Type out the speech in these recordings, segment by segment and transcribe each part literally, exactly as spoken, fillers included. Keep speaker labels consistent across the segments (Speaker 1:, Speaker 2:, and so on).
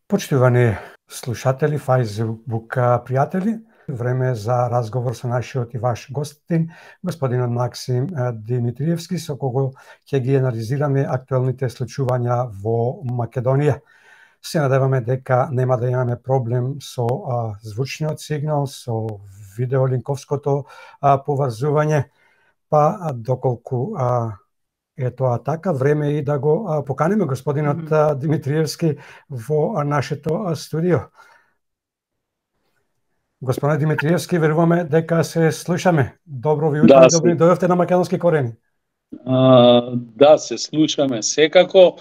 Speaker 1: Почитувани слушатели, Facebook пријатели, време за разговор со нашиот и ваш гостин, господинот Максим Димитриевски, со кого ќе ги анализираме актуелните случувања во Македонија. Се надеваме дека нема да имаме проблем со а, звучниот сигнал, со видеолинковското а, поврзување, па а, доколку а, е тоа така, време и да го а, поканеме господинот mm -hmm. Димитриевски во нашето студио. Господине Димитриевски, веруваме дека се слушаме. Добро ви утро, да, добро се... дојдовте на Македонски корени.
Speaker 2: А, да, се слушаме секако.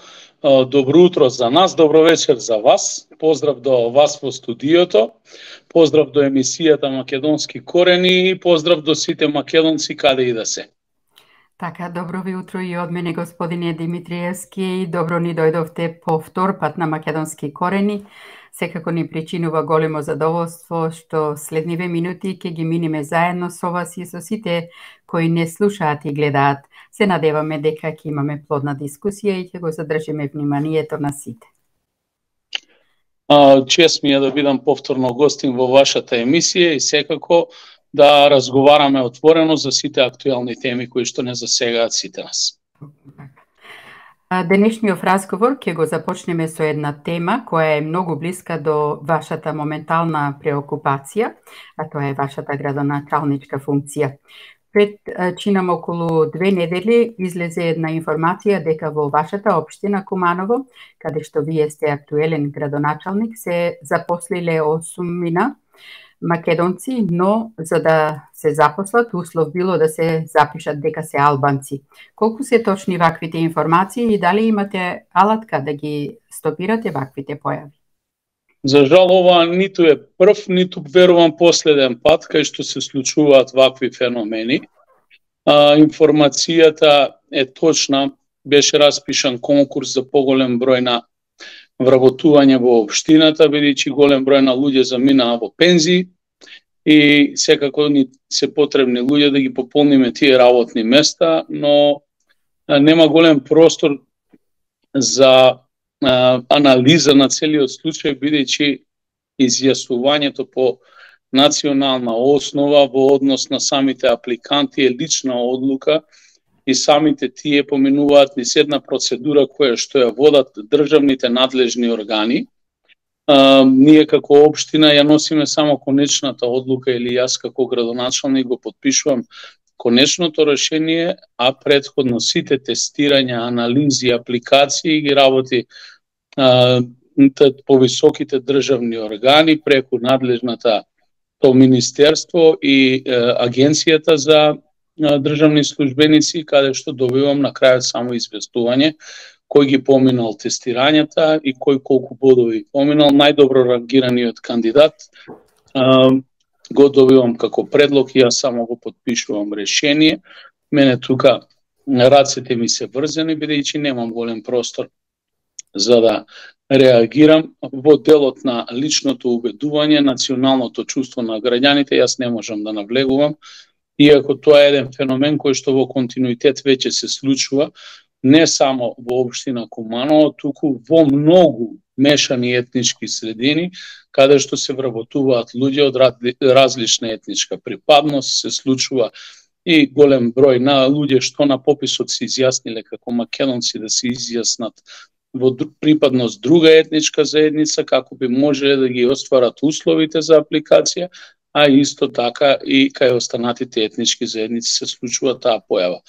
Speaker 2: Добро утро за нас, добро вечер за вас. Поздрав до вас во студиото. Поздрав до емисијата Македонски корени и поздрав до сите македонци каде и да се.
Speaker 3: Така, добро ви утро и од мене, господине Димитриевски. Добро ни дојдовте по втор пат на Македонски корени. Секако ни причинува големо задоволство што следниве минути ќе ги минеме заедно со вас и со сите кои не слушаат и гледаат. Се надеваме дека ќе имаме плодна дискусија и ќе го задржиме вниманието на сите.
Speaker 2: Чест ми е да бидам повторно гостин во вашата емисија и секако да разговараме отворено за сите актуелни теми кои што не засегаат сите нас.
Speaker 3: Денешниот разговор ќе го започнеме со една тема која е многу блиска до вашата моментална преокупација, а тоа е вашата градоначалничка функција. Пред чинам околу две недели излезе една информација дека во вашата општина Куманово, каде што вие сте актуелен градоначалник, се запослиле осумина македонци, но за да се запослат, услов било да се запишат дека се албанци. Колку се точни ваквите информации и дали имате алатка да ги стопирате ваквите појави?
Speaker 2: За жал, ова ниту е прв, ниту верувам последен пат кај што се случуваат вакви феномени. А, информацијата е точна, беше распишан конкурс за поголем број на вработување во општината, бидејќи голем број на луѓе заминаа во пензии и секако ни се потребни луѓе да ги пополниме тие работни места, но нема голем простор за а, анализа на целиот случај, бидејќи изјаснувањето по национална основа во однос на самите апликанти е лична одлука и самите тие поминуваат низ една процедура која што ја водат државните надлежни органи. А, ние како општина ја носиме само конечната одлука или јас како градоначалник го подпишувам конечното решение, а претходно сите тестирања, анализи, апликации ги работи а, по високите државни органи преку надлежната то министерство и а, агенцијата за државни службеници, каде што добивам на крајот само известување кој ги поминал тестирањата и кој колку бодови поминал. Најдобро рангираниот кандидат а, го добивам како предлог и јас само го подпишувам решение. Мене тука рацете ми се врзани, бидејќи немам голем простор за да реагирам во делот на личното убедување, националното чувство на граѓаните. Јас не можам да навлегувам, иако тоа е еден феномен кој што во континуитет веќе се случува не само во општина Куманово, туку во многу мешани етнички средини, каде што се вработуваат луѓе од различна етничка припадност, се случува и голем број на луѓе што на пописот се изјасниле како македонци да се изјаснат во припадност друга етничка заедница, како би можеле да ги остварат условите за апликација, а исто така и кај останатите етнички заедници се случува таа појава.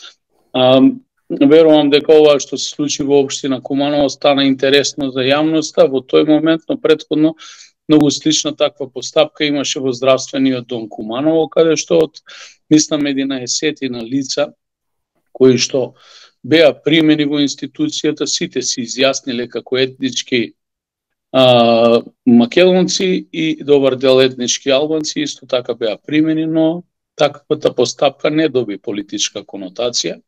Speaker 2: А, верувам дека ова што се случи во општина Куманово стана интересно за јавноста во тој момент, но претходно многу слична таква постапка имаше во здравствениот дом Куманово, каде што од мислам единаесетина лица кои што беа примени во институцијата, сите се изјасниле како етнички а, македонци и добар дел етнички албанци исто така беа примени, но таквата постапка не доби политичка конотација.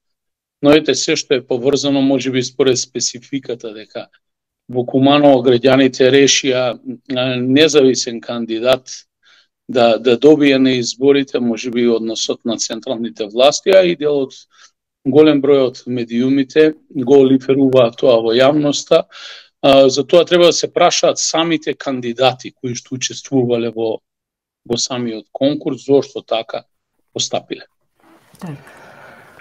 Speaker 2: Но ете се што е поврзано можеби според спецификата дека во Куманово граѓаните решија независен кандидат да да добие на изборите, можеби односот на централните власти, а и делот голем број од медиумите го лиферуваат тоа во јавноста, За тоа треба да се прашаат самите кандидати кои што учествувале во во самиот конкурс, зошто така постапиле.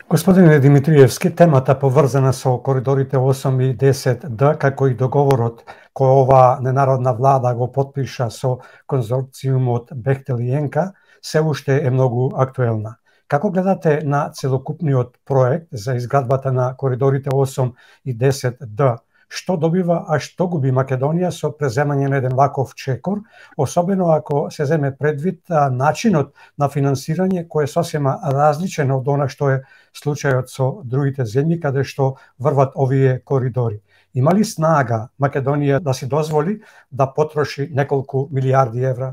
Speaker 1: Господине Димитриевски, темата поврзана со коридорите осум и десет Д, како и договорот кој ова ненародна влада го потпиша со конзорциумот Бехтел и Енка, се уште е многу актуелна. Како гледате на целокупниот проект за изградбата на коридорите осум и десет Д? Што добива, а што губи Македонија со преземање на еден ваков чекор, особено ако се земе предвид а, начинот на финансирање кој е сосема различен од она што е случајот со другите земји каде што врват овие коридори. Има ли снага Македонија да си дозволи да потроши неколку милиарди евра?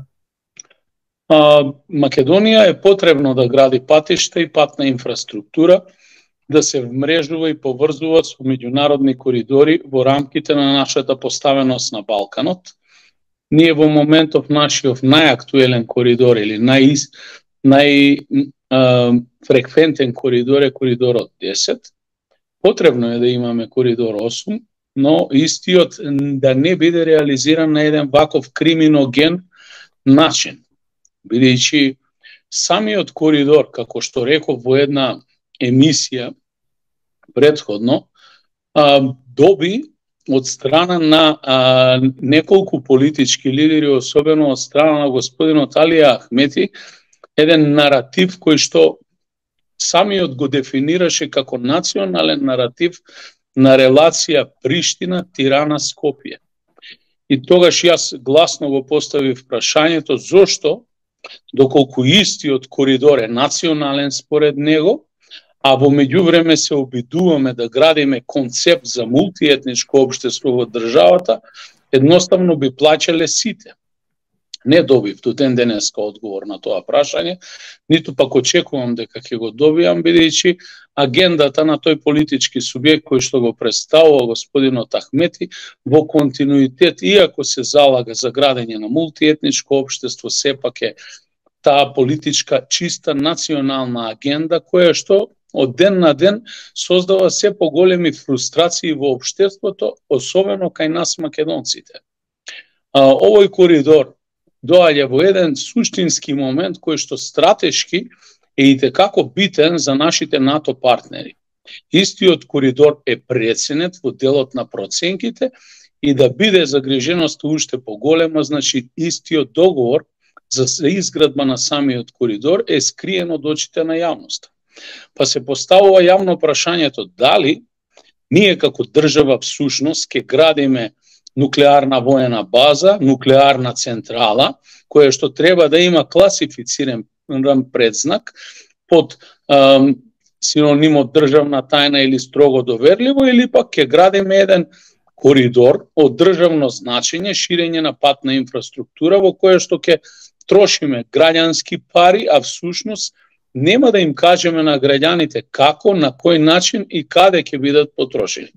Speaker 2: А, Македонија е потребно да гради патишта и патна инфраструктура, да се вмрежува и поврзува со меѓународни коридори во рамките на нашата поставеност на Балканот. Ние во моментов нашиот најактуелен коридор или нај најфреквентен коридор е коридорот десет. Потребно е да имаме коридор осум, но истиот да не биде реализиран на еден ваков криминоген начин. Бидејќи самиот коридор, како што реков во една емисија предходно, а, доби од страна на а, неколку политички лидери, особено од страна на господинот Алија Ахмети, еден наратив кој што самиот го дефинираше како национален наратив на релација Приштина-Тирана-Скопје. И тогаш јас гласно го поставив прашањето зошто, доколку истиот коридор е национален според него, а во меѓувреме се обидуваме да градиме концепт за мултиетничко општество во државата, едноставно би плаќале сите. Не добив до ден денеска одговор на тоа прашање, ниту пак очекувам дека ќе го добијам, бидејќи агендата на тој политички субјект кој што го представува господинот Ахмети во континуитет, иако се залага за градење на мултиетничко општество, сепак е таа политичка чиста национална агенда која што од ден на ден создава се поголеми фрустрации во општеството, особено кај нас македонците. Овој коридор доаѓа во еден суштински момент кој што стратешки е и текако битен за нашите НАТО партнери. Истиот коридор е преценет во делот на проценките и да биде загриженоста уште поголема, значи истиот договор за изградба на самиот коридор е скриен од очите на јавноста. Па се поставува јавно прашањето дали ние како држава всушност ќе градиме нуклеарна воена база, нуклеарна централа, која што треба да има класифициран предзнак под ем, синонимот државна тајна или строго доверливо, или пак ќе градиме еден коридор од државно значење, ширење на патна инфраструктура во која што ќе трошиме граѓански пари, а всушност нема да им кажеме на граѓаните како, на кој начин и каде ќе бидат потрошени.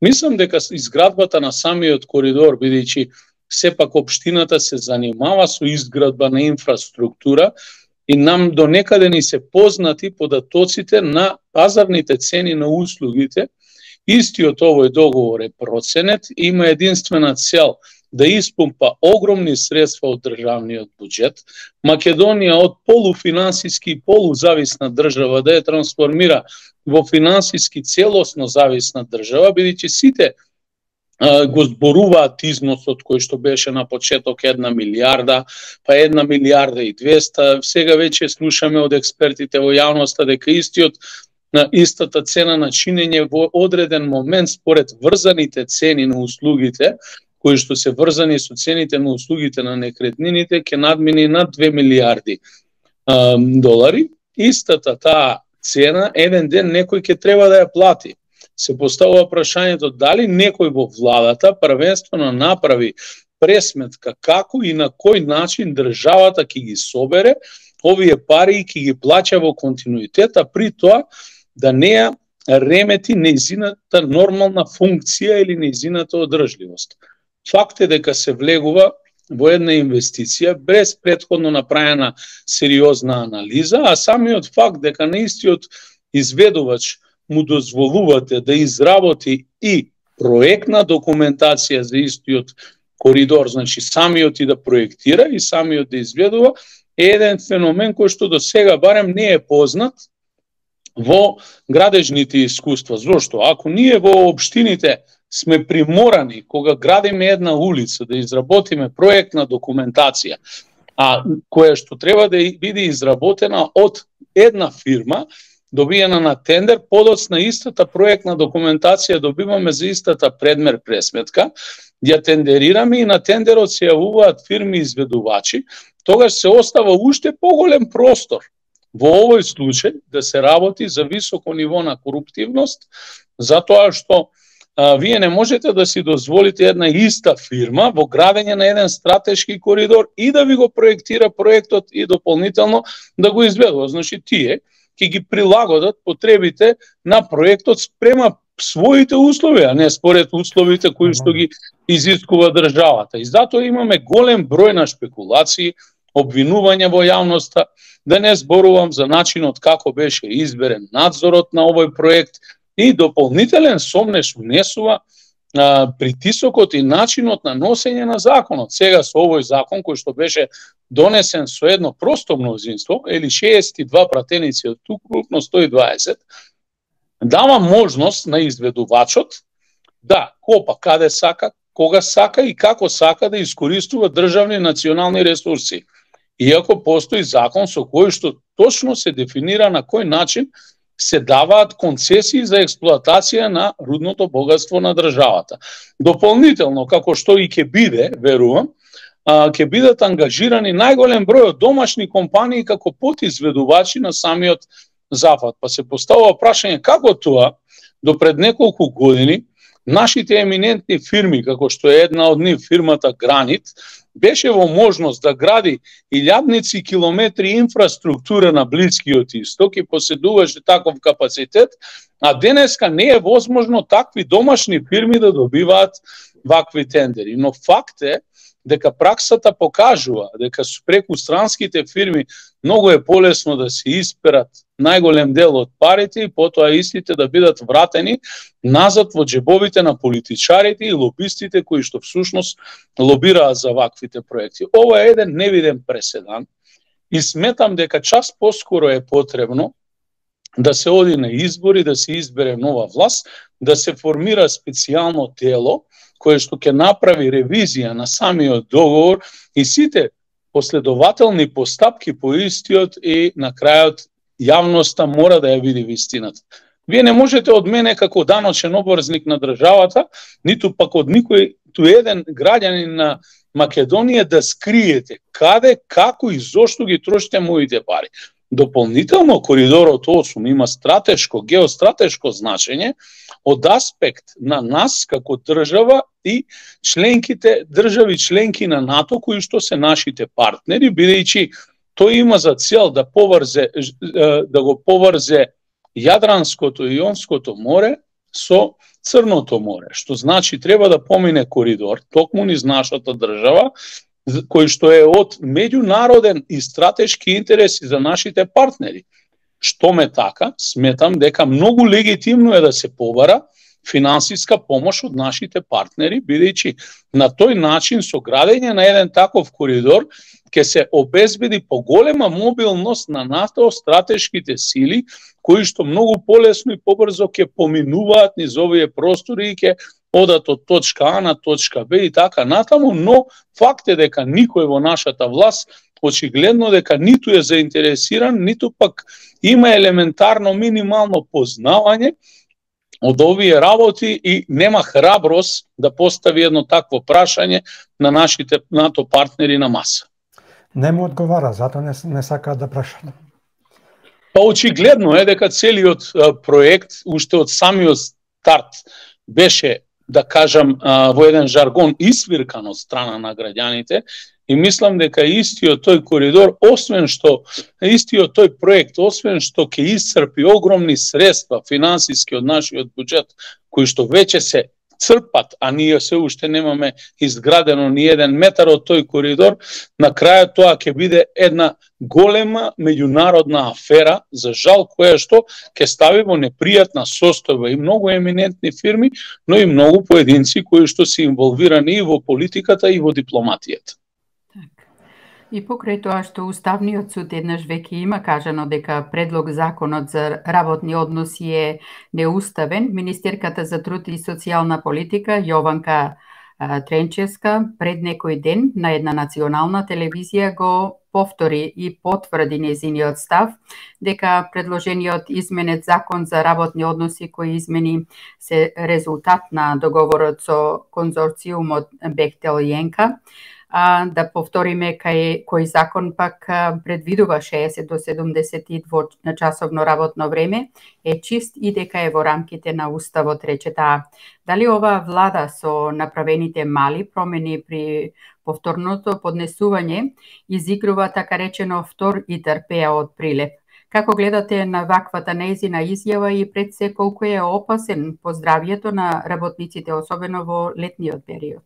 Speaker 2: Мислам дека изградбата на самиот коридор, бидејќи сепак општината се занимава со изградба на инфраструктура и нам до некаде ни се познати податоците на пазарните цени на услугите, истиот овој договор е проценет, има единствена цел да испумпа огромни средства од државниот буџет, Македонија од полуфинансиски и полузависна држава да ја трансформира во финансиски целосно зависна држава, бидејќи сите а, го зборуваат износот кој што беше на почеток една милијарда, па една милијарда и двеста, сега веќе слушаме од експертите во јавноста дека истиот на истата цена на чинење во одреден момент според врзаните цени на услугите, кои што се врзани со цените на услугите на некретнините, ќе надмини над две милијарди а, долари. Истата таа цена еден ден некој ќе треба да ја плати. Се поставува прашањето дали некој во владата првенствено направи пресметка како и на кој начин државата ќе ги собере овие пари и ќе ги плаќа во континуитет, а при тоа да не ја ремети нејзината нормална функција или нејзината одржливост. Факт е дека се влегува во една инвестиција без претходно направена сериозна анализа, а самиот факт дека на истиот изведувач му дозволувате да изработи и проектна документација за истиот коридор, значи самиот и да проектира и самиот да изведува, е еден феномен кој што до сега барем не е познат во градежните искуства. Зошто? Ако ние во општините сме приморани, кога градиме една улица, да изработиме проектна документација, а која што треба да биде изработена од една фирма, добиена на тендер, подоцна истата проектна документација добиваме за истата предмер пресметка, ја тендерираме и на тендерот се јавуваат фирми изведувачи, тогаш се остава уште поголем простор во овој случај да се работи за високо ниво на коруптивност, затоа што а, вие не можете да си дозволите една иста фирма во градење на еден стратешки коридор и да ви го проектира проектот и дополнително да го изведува. Значи тие ќе ги прилагодат потребите на проектот спрема своите услови, а не според условите кои што ги изискува државата. И затоа имаме голем број на шпекулации, обвинувања во јавноста, да не зборувам за начинот како беше изберен надзорот на овој проект и дополнителен сомнеш внесува а, притисокот и начинот на носење на законот. Сега со овој закон кој што беше донесен со едно просто мнозинство, или шеесет и два пратеници од укупно сто и дваесет, дава можност на изведувачот да копа каде сака, кога сака и како сака да искористува државни и национални ресурси. Иако постои закон со кој што точно се дефинира на кој начин се даваат концесии за експлоатација на рудното богатство на државата. Дополнително, како што и ќе биде, верувам, ќе бидат ангажирани најголем број од домашни компании како подизведувачи на самиот зафат. Па се поставува прашање како тоа до пред неколку години нашите еминентни фирми, како што е една од нив фирмата Гранит, беше во можност да гради илјадници километри инфраструктура на Блискиот Исток и поседуваше таков капацитет, а денеска не е возможно такви домашни фирми да добиваат вакви тендери. Но факт е дека праксата покажува дека преку странските фирми многу е полесно да се исперат најголем дел од парите и потоа истите да бидат вратени назад во джебовите на политичарите и лобистите кои што всушност лобираат за ваквите проекти. Ова е еден невиден преседан и сметам дека час поскоро е потребно да се оди на избори, да се избере нова власт, да се формира специјално тело кое што ќе направи ревизија на самиот договор и сите последователни постапки по истиот и на крајот јавноста мора да ја види вистината. Вие не можете од мене како даночен обврзник на државата, ниту пак од никој ту еден граѓанин на Македонија да скриете каде, како и зошто ги трошите моите пари. Дополнително, коридорот осум има стратешко, геостратешко значење од аспект на нас како држава и членките, држави членки на НАТО кои што се нашите партнери, бидејќи тој има за цел да поврзе да го поврзе Јадранското и Јонското море со Црното море, што значи треба да помине коридор токму низ нашата држава, кој што е од меѓународен и стратешки интереси за нашите партнери. Што ме така, сметам дека многу легитимно е да се побара финансиска помош од нашите партнери, бидејќи на тој начин со градење на еден таков коридор ќе се обезбеди поголема мобилност на НАТО стратешките сили, кои што многу полесно и побрзо ќе поминуваат низ овие простори и ќе одат од точка А на точка Б и така натаму, но факт е дека никој во нашата власт очигледно дека ниту е заинтересиран, ниту пак има елементарно минимално познавање од овие работи и нема храброст да постави едно такво прашање на нашите НАТО партнери на маса.
Speaker 1: Не му одговара, затоа не, не сака да прашаат.
Speaker 2: Па очигледно е дека целиот а, проект уште од самиот старт беше, да кажам, а, во еден жаргон исвиркан од страна на граѓаните и мислам дека истиот тој коридор, освен што истиот тој проект, освен што ќе исцрпи огромни средства финансиски од нашиот буџет, кои што веќе се црпат, а ние се уште немаме изградено ни еден метар од тој коридор, на крајот тоа ќе биде една голема меѓународна афера, за жал, која што ќе стави во непријатна состојба и многу еминентни фирми, но и многу поединци кои што се инволвирани и во политиката и во дипломатијата.
Speaker 3: И покрај тоа што Уставниот суд еднаш веќе има кажано дека предлог законот за работни односи е неуставен, министерката за труд и социјална политика Јованка Тренчевска пред некој ден на една национална телевизија го повтори и потврди нејзиниот став дека предложениот изменет закон за работни односи кои измени се резултат на договорот со конзорциумот Бехтел и Енка. А, да повториме кај кој закон пак предвидува шеесет до седумдесет и две часовно работно време, е чист и дека е во рамките на Уставот, рече таа. Дали ова влада со направените мали промени при повторното поднесување изигрува така речено втор и трпеа од прилеп? Како гледате на ваквата нејзина изјава и пред се колку е опасен по здравјето на работниците, особено во летниот период?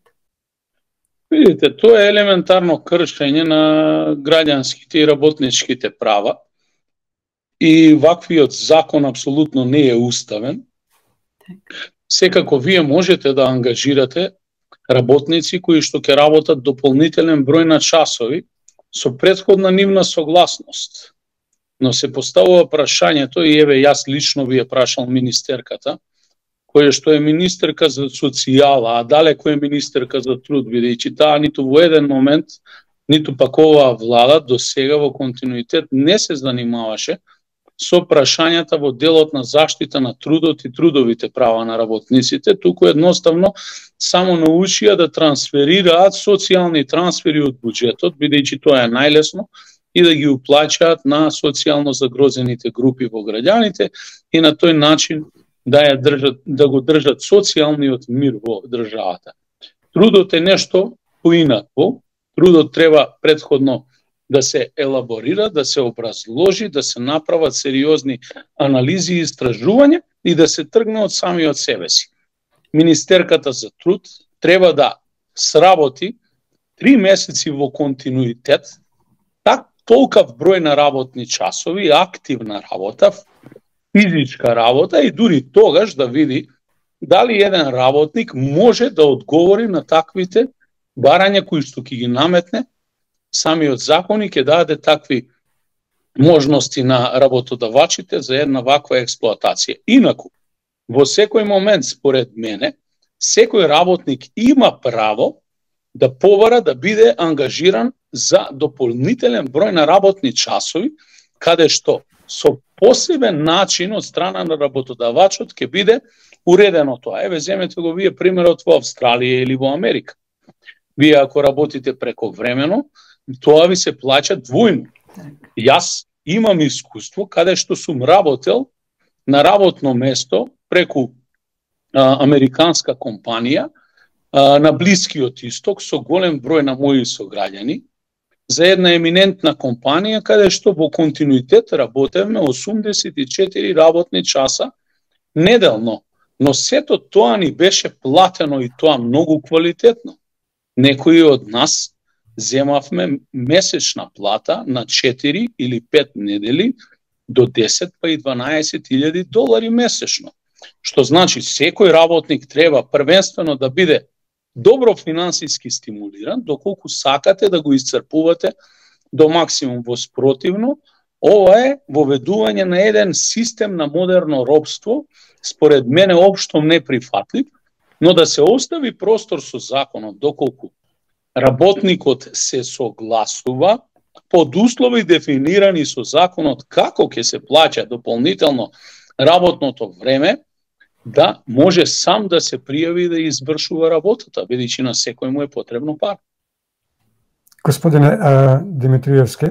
Speaker 2: Видите, тоа е елементарно кршење на граѓанските и работничките права и ваквиот закон апсолутно не е уставен. Секако вие можете да ангажирате работници кои што ќе работат дополнителен број на часови со претходна нивна согласност. Но се поставува прашањето, и еве јас лично ви е прашал министерката, која што е министерка за социјала, а далеко е министерка за труд, бидејќи таа ниту во еден момент, ниту пак оваа влада до сега во континуитет не се занимаваше со прашањата во делот на заштита на трудот и трудовите права на работниците, туку едноставно само научија да трансферираат социјални трансфери од буџетот, бидејќи тоа е најлесно, и да ги уплаќаат на социјално загрозените групи во граѓаните и на тој начин да ја држат, да го држат социјалниот мир во државата. Трудот е нешто поинакво. Трудот треба претходно да се елаборира, да се образложи, да се направат сериозни анализи и истражувања и да се тргне од самиот себе си. Министерката за труд треба да сработи три месеци во континуитет, так толкав број на работни часови, активна работа, физичка работа и дури тогаш да види дали еден работник може да одговори на таквите барања кои што ќе ги наметне самиот закон и ќе даде такви можности на работодавачите за една ваква експлоатација. Инаку, во секој момент, според мене, секој работник има право да побара да биде ангажиран за дополнителен број на работни часови, каде што со посебен начин од страна на работодавачот ќе биде уредено тоа. Еве, земете го вие примерот во Австралија или во Америка. Вие ако работите преко времено, тоа ви се плаќа двојно. Јас имам искуство каде што сум работел на работно место преку а, американска компанија а, на Блискиот Исток со голем број на мои сограѓани за една еминентна компанија каде што во континуитет работевме осумдесет и четири работни часа неделно, но сето тоа ни беше платено и тоа многу квалитетно. Некои од нас земавме месечна плата на четири или пет недели до десет па и дванаесет илјади долари месечно. Што значи секој работник треба првенствено да биде добро финансиски стимулиран, доколку сакате да го исцрпувате до максимум. Во спротивно, ова е воведување на еден систем на модерно робство, според мене општо неприфатлив, но да се остави простор со законот, доколку работникот се согласува под услови дефинирани со законот како ќе се плаќа дополнително работното време, да може сам да се пријави да извршува работата, бидејќи на секој му е потребно пар.
Speaker 1: Господине Димитриевски,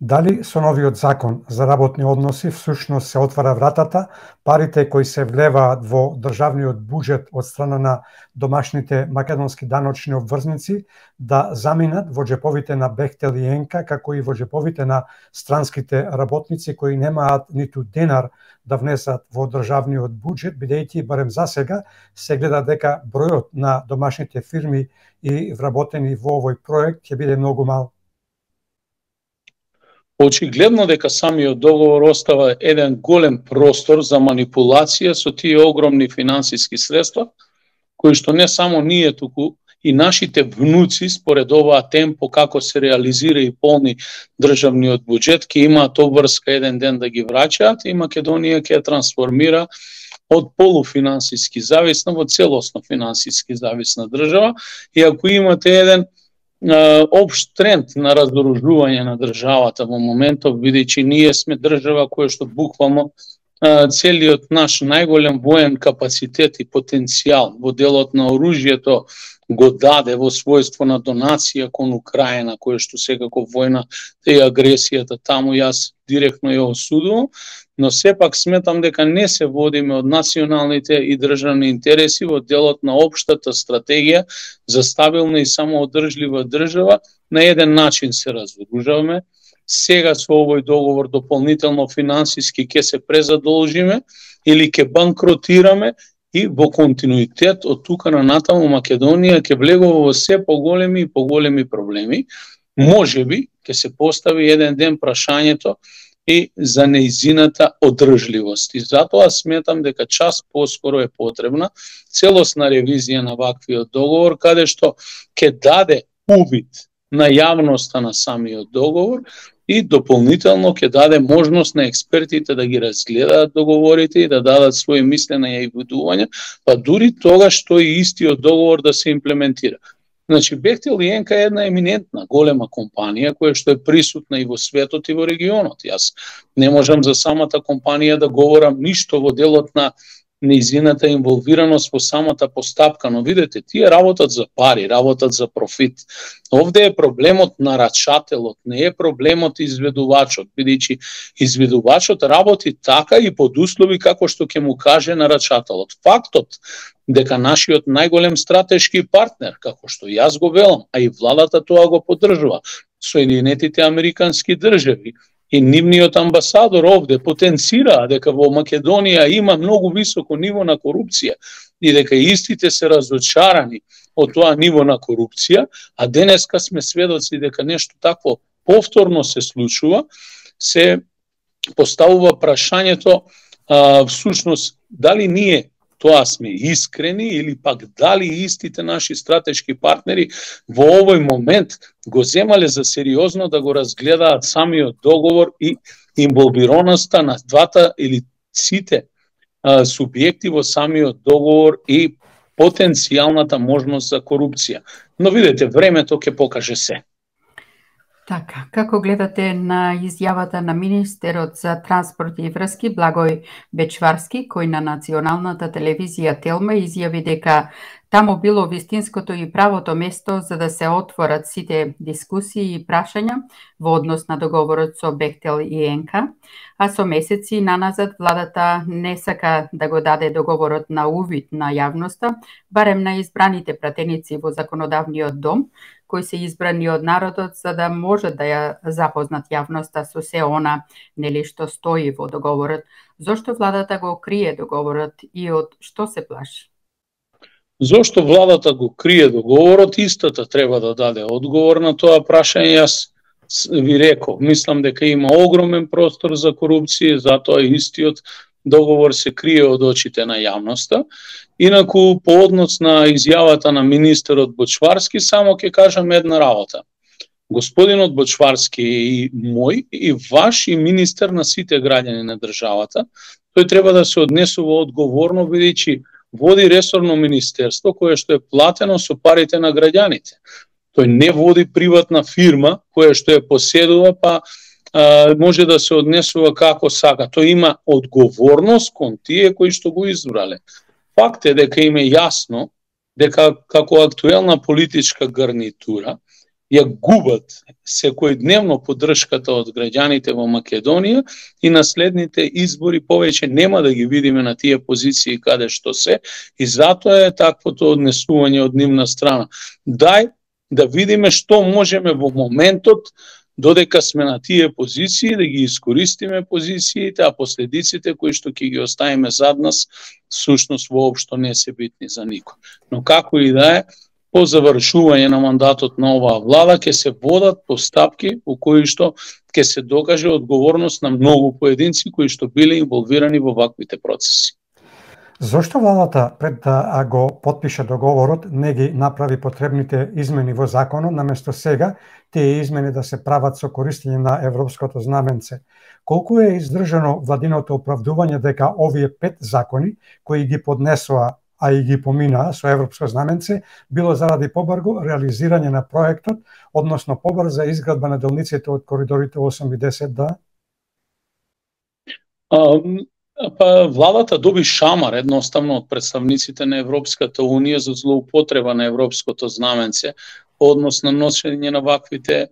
Speaker 1: Дали со новиот закон за работни односи всушност се отвара вратата парите кои се влеваат во државниот буџет од страна на домашните македонски даночни обврзници да заминат во џеповите на Бехтел и Енка, како и во џеповите на странските работници кои немаат ниту денар да внесат во државниот буџет, бидејќи барем за сега се гледа дека бројот на домашните фирми и вработени во овој проект ќе биде многу мал.
Speaker 2: Очигледно дека самиот договор остава еден голем простор за манипулација со тие огромни финансиски средства, кои што не само ние, туку и нашите внуци според оваа темпо како се реализира и полни државниот буџет, ќе имаат обврска еден ден да ги враќаат и Македонија ќе ја трансформира од полуфинансиски зависна во целосно финансиски зависна држава. И ако имате еден општ тренд на разоружување на државата во моментов, бидејќи ние сме држава која што буквално целиот наш најголем воен капацитет и потенцијал во делот на оружјето го даде во својство на донација кон Украина, која што секако војна и агресијата таму јас директно ја осудувам, но сепак сметам дека не се водиме од националните и државни интереси во делот на општата стратегија за стабилна и самоодржлива држава. На еден начин се разоружаваме. Сега со овој договор дополнително финансиски ќе се презадолжиме или ќе банкротираме и во континуитет од тука на натаму Македонија ќе влегува во се поголеми и поголеми проблеми. Можеби ќе се постави еден ден прашањето и за неизината одржливост. И затоа сметам дека час поскоро е потребна целосна ревизија на ваквиот договор, каде што ќе даде увид на јавноста на самиот договор и дополнително ќе даде можност на експертите да ги разгледаат договорите и да дадат своји мислења и видувања, па дури тогаш што и истиот договор да се имплементира. Значи, Бехтел и Енка е една еминентна, голема компанија која што е присутна и во светот и во регионот. Јас не можам за самата компанија да говорам ништо во делот на неизината инволвираност во самата постапка, но видете, тие работат за пари, работат за профит. Овде е проблемот нарачателот, не е проблемот изведувачот, бидејќи изведувачот работи така и под услови како што ќе му каже нарачателот. Фактот дека нашиот најголем стратешки партнер, како што јас го велам, а и владата тоа го поддржува, Соединетите Американски држави и нивниот амбасадор овде потенцираа дека во Македонија има многу високо ниво на корупција и дека истите се разочарани од тоа ниво на корупција, а денеска сме сведоци дека нешто такво повторно се случува, се поставува прашањето а, всушност дали ние тоа сме искрени или пак дали истите наши стратешки партнери во овој момент го земале за сериозно да го разгледаат самиот договор и инволвираноста на двата или сите а, субјекти во самиот договор и потенцијалната можност за корупција. Но видете, времето ќе покаже се.
Speaker 3: Така, како гледате на изјавата на министерот за транспорт и врски Благој Бечварски, кој на националната телевизија Телма изјави дека таму било вистинското и правото место за да се отворат сите дискусии и прашања во однос на договорот со Бехтел и Енка, а со месеци наназад владата не сака да го даде договорот на увид на јавноста, барем на избраните пратеници во законодавниот дом, кои се избрани од народот за да можат да ја запознат јавноста со се она нели што стои во договорот. Зошто владата го крие договорот и од што се плаши?
Speaker 2: Зошто владата го крие договорот, истата треба да даде одговор на тоа прашање. Јас ви реков, мислам дека има огромен простор за корупција, затоа истиот договор се крие од очите на јавноста. Инаку, по однос на изјавата на министерот Бочварски, само ќе кажам една работа. Господинот Бочварски е и мој, и ваш, и министер на сите граѓани на државата. Тој треба да се однесува одговорно, бидејќи води ресорно министерство кое што е платено со парите на граѓаните. Тој не води приватна фирма која што е поседува, па а, може да се однесува како сака. Тој има одговорност кон тие кои што го избрале. Факт е дека им е јасно дека како актуелна политичка гарнитура ја губат секојдневно поддршката од граѓаните во Македонија и на следните избори повеќе нема да ги видиме на тие позиции каде што се, и затоа е таквото однесување од нивна страна. Дај да видиме што можеме во моментот, додека сме на тие позиции, да ги искористиме позициите, а последиците кои што ќе ги оставиме зад нас, всушност воопшто не се битни за никој. Но како и да е, по завршување на мандатот на оваа влада ќе се водат постапки во кои што ќе се докаже одговорност на многу поединци кои што биле инволвирани во ваквите процеси.
Speaker 1: Зошто владата пред да го потпише договорот не ги направи потребните измени во законот, наместо сега тие измени да се прават со користење на европското знаменце? Колку е издржано владиното оправдување дека овие пет закони кои ги поднесоа, а и ги поминаа со европско знаменце, било заради побрзо реализирање на проектот, односно побрза изградба на делниците од коридорите осум и десет Д?
Speaker 2: Um... Па владата доби шамар едноставно од представниците на Европската Унија за злоупотреба на европското знаменце по однос на носење на ваквите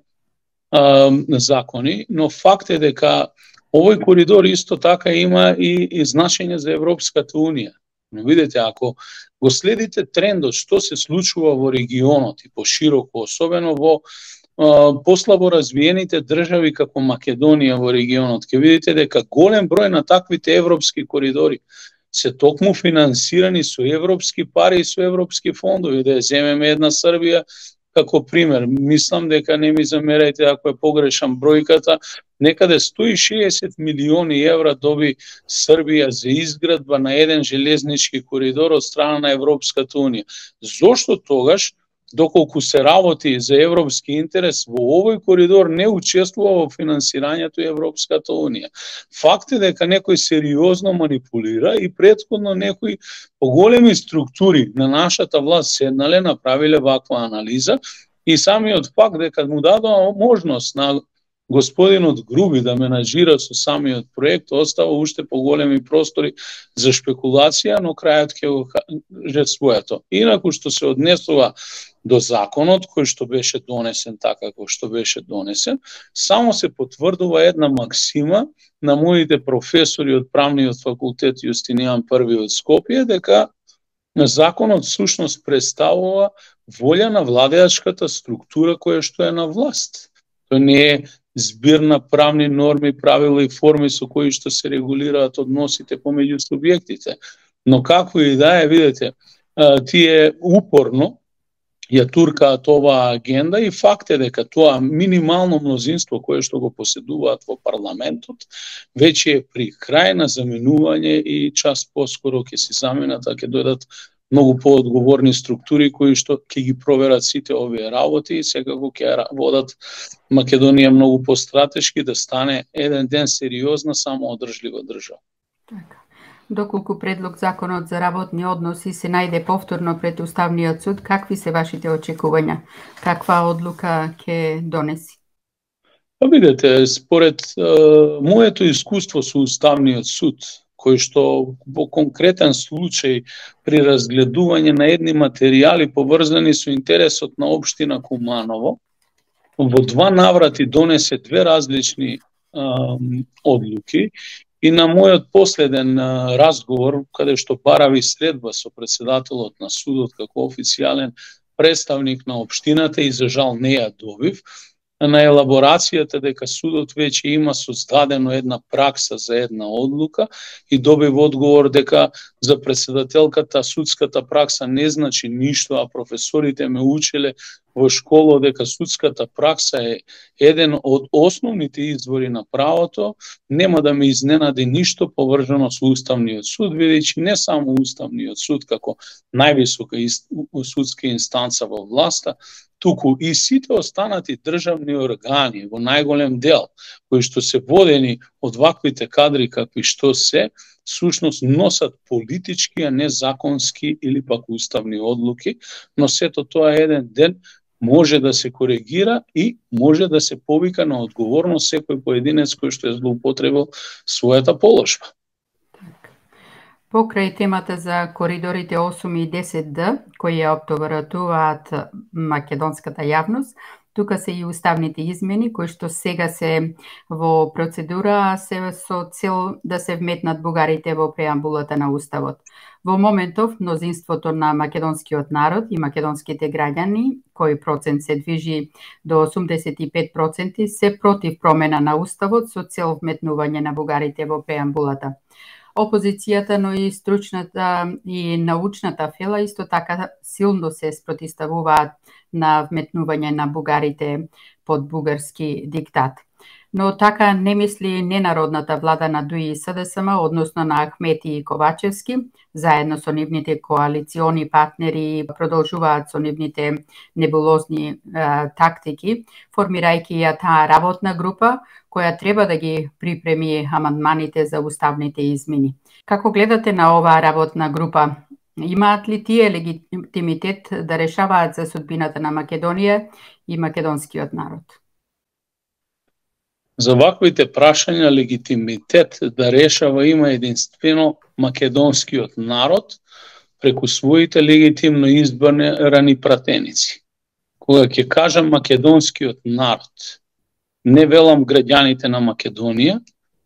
Speaker 2: а, закони, но факт е дека овој коридор исто така има и, и значење за Европската Унија. Но видите, ако го следите трендот што се случува во регионот и пошироко, особено во послабо развиените држави како Македонија во регионот, ќе видите дека голем број на таквите европски коридори се токму финансирани со европски пари и со европски фондови. Да ја земеме една Србија како пример. Мислам дека, не ми замерајте ако е погрешам бројката, некаде сто и шеесет милиони евра доби Србија за изградба на еден железнички коридор од страна на Европската Унија. Зошто тогаш, доколку се работи за европски интерес, во овој коридор не учествува во финансирањето Европската Унија? Факт е дека некој сериозно манипулира и претходно некои поголеми структури на нашата власт седнале, направиле ваква анализа и самиот факт дека му дадоа можност на господинот Груби да менаџира со самиот проект, остава уште поголеми простори за шпекулација, но крајот ќе го каже своето. Инаку што се однесува до законот кој што беше донесен така како што беше донесен, само се потврдува една максима на моите професори од правниот факултет Јустинијан Први од Скопје, дека законот всушност представува волја на владеачката структура која што е на власт. Тој не е збир на правни норми, правила и форми со кои што се регулираат односите помеѓу субјектите. Но како и да е, видите, тие упорно ја туркаат оваа агенда и факт е дека тоа минимално мнозинство кое што го поседуваат во парламентот веќе е при крај на заменување и час поскоро ќе се заменат, а ќе дојдат многу поодговорни структури кои што ќе ги проверат сите овие работи и секако ќе водат Македонија многу постратешки да стане еден ден сериозна самоодржлива држава.
Speaker 3: Така. Доколку предлог законот за работни односи се најде повторно пред Уставниот суд, какви се вашите очекувања? Каква одлука ќе донеси?
Speaker 2: Па видете, според е, моето искуство со Уставниот суд, кој што во конкретен случај при разгледување на едни материјали поврзани со интересот на општина Куманово, во два наврати донесе две различни а, одлуки и на мојот последен а, разговор, каде што барави следба со председателот на судот како официјален представник на општината и за жал не ја добив, на елаборацијата дека судот веќе има создадено една пракса за една одлука и добив одговор дека за председателката судската пракса не значи ништо, а професорите ме учеле во школа дека судската пракса е еден од основните извори на правото. Нема да ме изненади ништо поврзано со Уставниот суд, бидејќи не само Уставниот суд како највисока судска инстанца во власта, туку и сите останати државни органи во најголем дел, кои што се водени од ваквите кадри какви што се, сушност носат политички, а не законски или пак уставни одлуки, но сето тоа еден ден може да се коригира и може да се повика на одговорност секој поединец кој што е злоупотребил својата положба.
Speaker 3: Покрај темата за коридорите осум и десет Д, кои ја оптоваратуваат македонската јавност, Тука се и уставните измени кои што сега се во процедура, се со цел да се вметнат бугарите во преамбулата на уставот. Во моментов мнозинството на македонскиот народ и македонските граѓани, кој процент се движи до осумдесет и пет проценти, се против промена на уставот со цел вметнување на бугарите во преамбулата. Опозицијата, но и стручната и научната фела исто така силно се спротивставуваат на вметнување на бугарите под бугарски диктат. Но така не мисли ненародната влада на ДУИ и СДСМ, односно на Ахмети и Ковачевски, заедно со нивните коалициони партнери продолжуваат со нивните небулозни е, тактики, формирајќи ја таа работна група која треба да ги припреми амандманите за уставните измени. Како гледате на оваа работна група? Имаат ли тие легитимитет да решаваат за судбината на Македонија и македонскиот народ?
Speaker 2: За ваквите прашања легитимитет да решава има единствено македонскиот народ преку своите легитимно избрани пратеници. Кога ќе кажам македонскиот народ, не велам граѓаните на Македонија,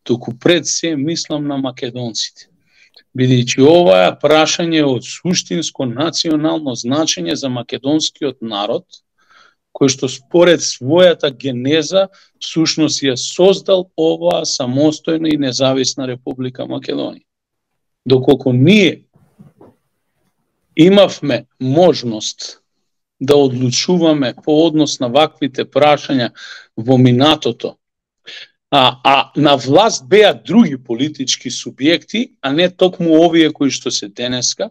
Speaker 2: туку пред се мислам на македонците. Бидејќи ова е прашање од суштинско национално значење за македонскиот народ, кој што според својата генеза всушност ја создал оваа самостојна и независна Република Македонија. Доколку ние имавме можност да одлучуваме по однос на ваквите прашања во минатото, а, а на власт беа други политички субјекти, а не токму овие кои што се денеска,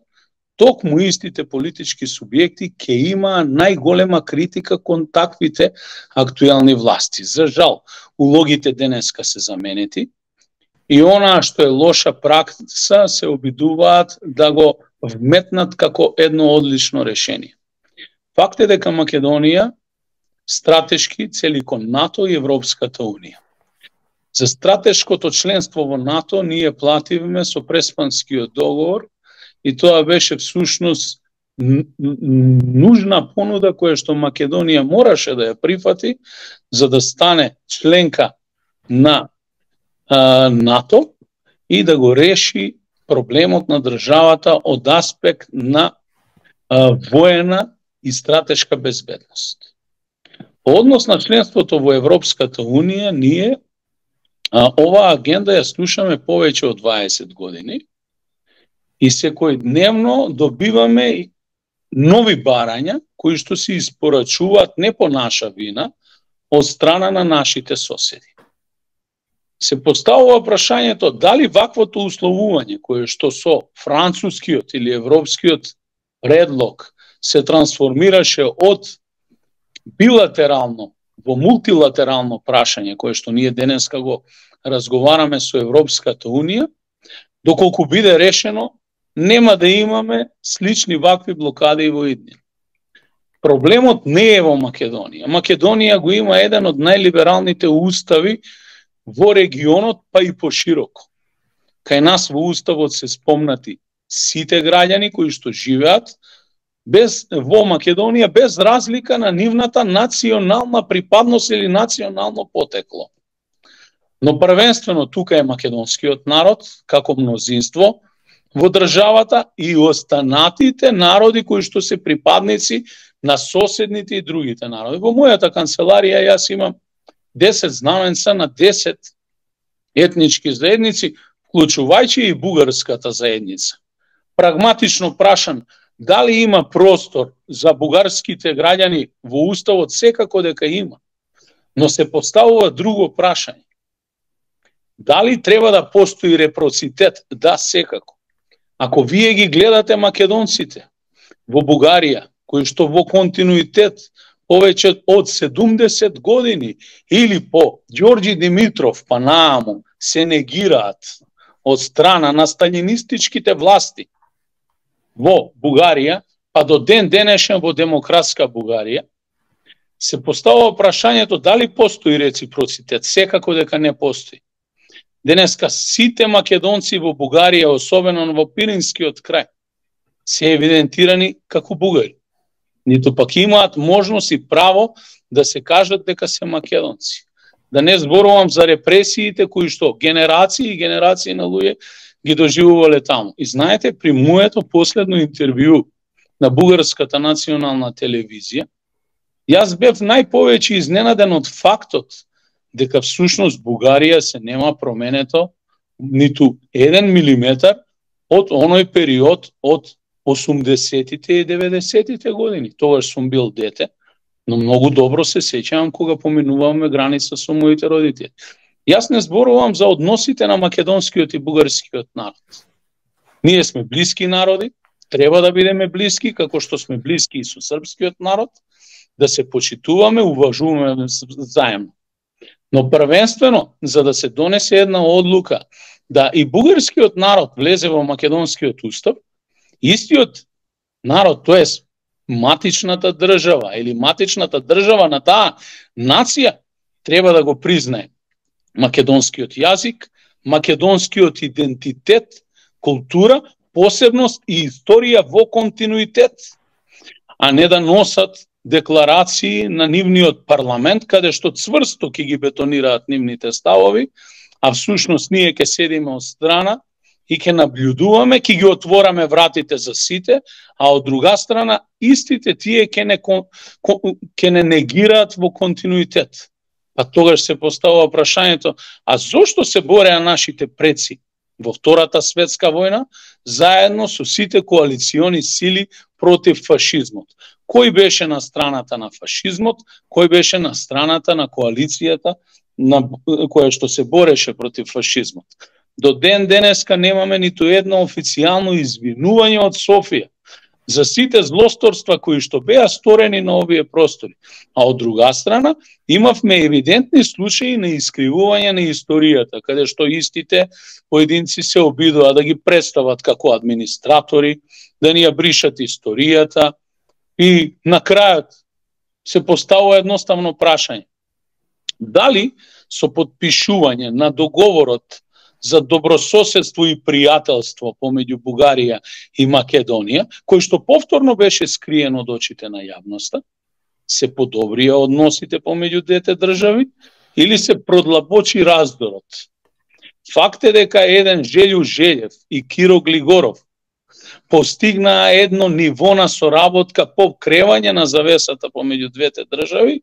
Speaker 2: токму истите политички субјекти ќе има најголема критика кон таквите актуелни власти. За жал, улогите денеска се заменети и она што е лоша пракса се обидуваат да го вметнат како едно одлично решение. Факт е дека Македонија стратешки цели кон НАТО и Европската Унија. За стратешкото членство во НАТО ние плативме со Преспанскиот договор и тоа беше всушност нужна понуда која што Македонија мораше да ја прифати за да стане членка на а, НАТО и да го реши проблемот на државата од аспект на а, воена и стратешка безбедност. По однос на членството во Европската Унија, ние а, оваа агенда ја слушаме повеќе од дваесет години и секојдневно добиваме нови барања кои што се испорачуваат не по наша вина од страна на нашите соседи. Се поставува прашањето дали ваквото условување кое што со францускиот или европскиот предлог се трансформираше од билатерално во мултилатерално прашање кое што ние денеска го разговараме со Европската Унија, доколку биде решено, нема да имаме слични вакви блокади во иднина. Проблемот не е во Македонија. Македонија го има еден од најлибералните устави во регионот, па и пошироко. Кај нас во уставот се спомнати сите граѓани кои што живеат без во Македонија без разлика на нивната национална припадност или национално потекло. Но првенствено тука е македонскиот народ како мнозинство во државата и останатите народи кои што се припадници на соседните и другите народи. Во мојата канцеларија јас имам десет знаменца на десет етнички заедници, вклучувајќи и бугарската заедница. Прагматично прашан, дали има простор за бугарските граѓани во уставот? Секако дека има. Но се поставува друго прашање. Дали треба да постои репроцитет? Да, секако. Ако вие ги гледате македонците во Бугарија, кои што во континуитет повеќе од седумдесет години или по Ѓорѓи Димитров па нааму се негираат од страна на сталинистичките власти во Бугарија, па до ден денешен во демократска Бугарија, се поставува прашањето дали постои реципроцитет. Секако дека не постои. Денеска сите македонци во Бугарија, особено во Пиринскиот крај, се евидентирани како бугари. ниту пак имаат можност и право да се кажат дека се македонци. Да не зборувам за репресиите кои што генерации и генерации на луѓе ги доживувале таму. И знаете, при моето последно интервју на Бугарската национална телевизија, јас бев најповеќе изненаден од фактот дека всушност Бугарија се нема променето ниту еден милиметар од оној период од осумдесетите и деветдесетите години. Тогаш сум бил дете, но многу добро се сеќавам кога поминуваме граница со моите родители. Јас не зборувам за односите на македонскиот и бугарскиот народ. Ние сме блиски народи, треба да бидеме блиски, како што сме блиски и со српскиот народ, да се почитуваме, уважуваме заемно. Но првенствено, за да се донесе една одлука да и бугарскиот народ влезе во македонскиот устав, истиот народ, тоест матичната држава или матичната држава на таа нација, треба да го признае македонскиот јазик, македонскиот идентитет, култура, посебност и историја во континуитет, а не да носат декларации на нивниот парламент, каде што цврсто ќе ги бетонираат нивните ставови, а всушност ние ќе седиме од страна и ќе наблюдуваме, ќе ги отвораме вратите за сите, а од друга страна истите тие ќе не, ќе не негираат во континуитет. А тогаш се поставува прашањето, а зошто се бореа нашите предци во Втората светска војна заедно со сите коалициони сили против фашизмот? Кој беше на страната на фашизмот, кој беше на страната на коалицијата на која што се бореше против фашизмот? До ден денеска немаме ниту едно официјално извинување од Софија за сите злосторства кои што беа сторени на овие простори. А од друга страна, имавме евидентни случаи на искривување на историјата, каде што истите поединци се обидува да ги представат како администратори, да ни ја бришат историјата и на крајот се поставува едноставно прашање. Дали со подпишување на договорот за добрососедство и пријателство помеѓу Бугарија и Македонија, кој што повторно беше скриен од очите на јавноста, се подобрија односите помеѓу двете држави или се продлабочи раздорот? Факт е дека еден Желју Желев и Киро Глигоров постигнаа едно ниво на соработка по кревање на завесата помеѓу двете држави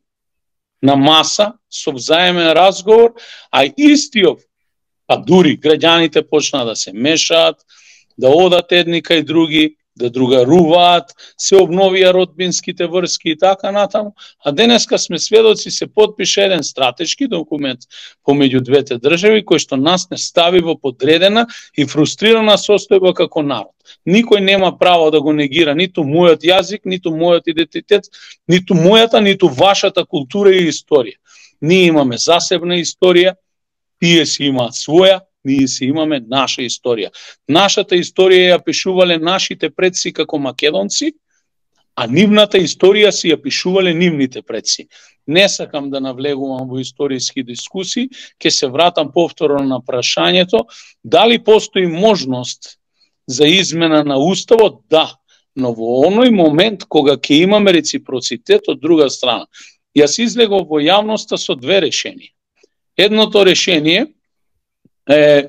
Speaker 2: на маса со взаемен разговор, а истиот, па дури граѓаните почнаа да се мешаат, да одат едни кај други, да другаруваат, се обновија родбинските врски и така натаму, а денеска сме сведоци се подпише еден стратешки документ помеѓу двете држави кој што нас не стави во подредена и фрустрирана состојба како народ. Никој нема право да го негира ниту мојот јазик, ниту мојот идентитет, ниту мојата, ниту вашата култура и историја. Ние имаме засебна историја, тие си имаат своја, ние си имаме наша историја. Нашата историја ја пишувале нашите предци како македонци, а нивната историја си ја пишувале нивните предци. Не сакам да навлегувам во историски дискусии, ќе се вратам повторно на прашањето дали постои можност за измена на уставот. Да, но во оној момент кога ќе имаме реципроцитет од друга страна. Јас излегов во јавноста со две решенија. Едното решение е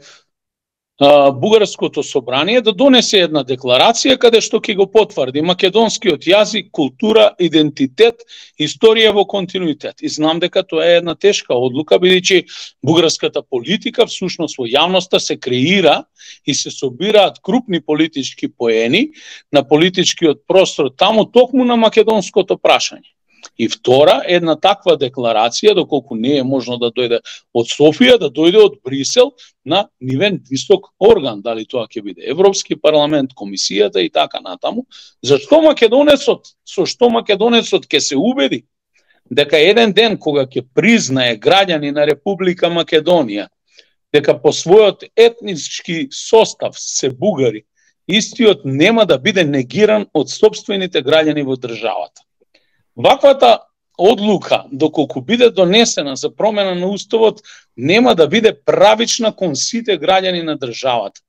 Speaker 2: а, Бугарското собрание да донесе една декларација каде што ќе го потврди македонскиот јазик, култура, идентитет, историја во континуитет. И знам дека тоа е една тешка одлука, бидејќи бугарската политика всушност во јавноста се креира и се собираат крупни политички поени на политичкиот простор таму токму на македонското прашање. И втора, една таква декларација, доколку не е можно да дојде од Софија, да дојде од Брисел на нивен висок орган, дали тоа ќе биде Европски парламент, комисијата и така натаму. Зашто македонецот, со што македонецот ќе се убеди дека еден ден кога ќе признае граѓани на Република Македонија дека по својот етнички состав се бугари, истиот нема да биде негиран од сопствените граѓани во државата. Ваквата одлука, доколку биде донесена за промена на уставот, нема да биде правична кон сите граѓани на државата.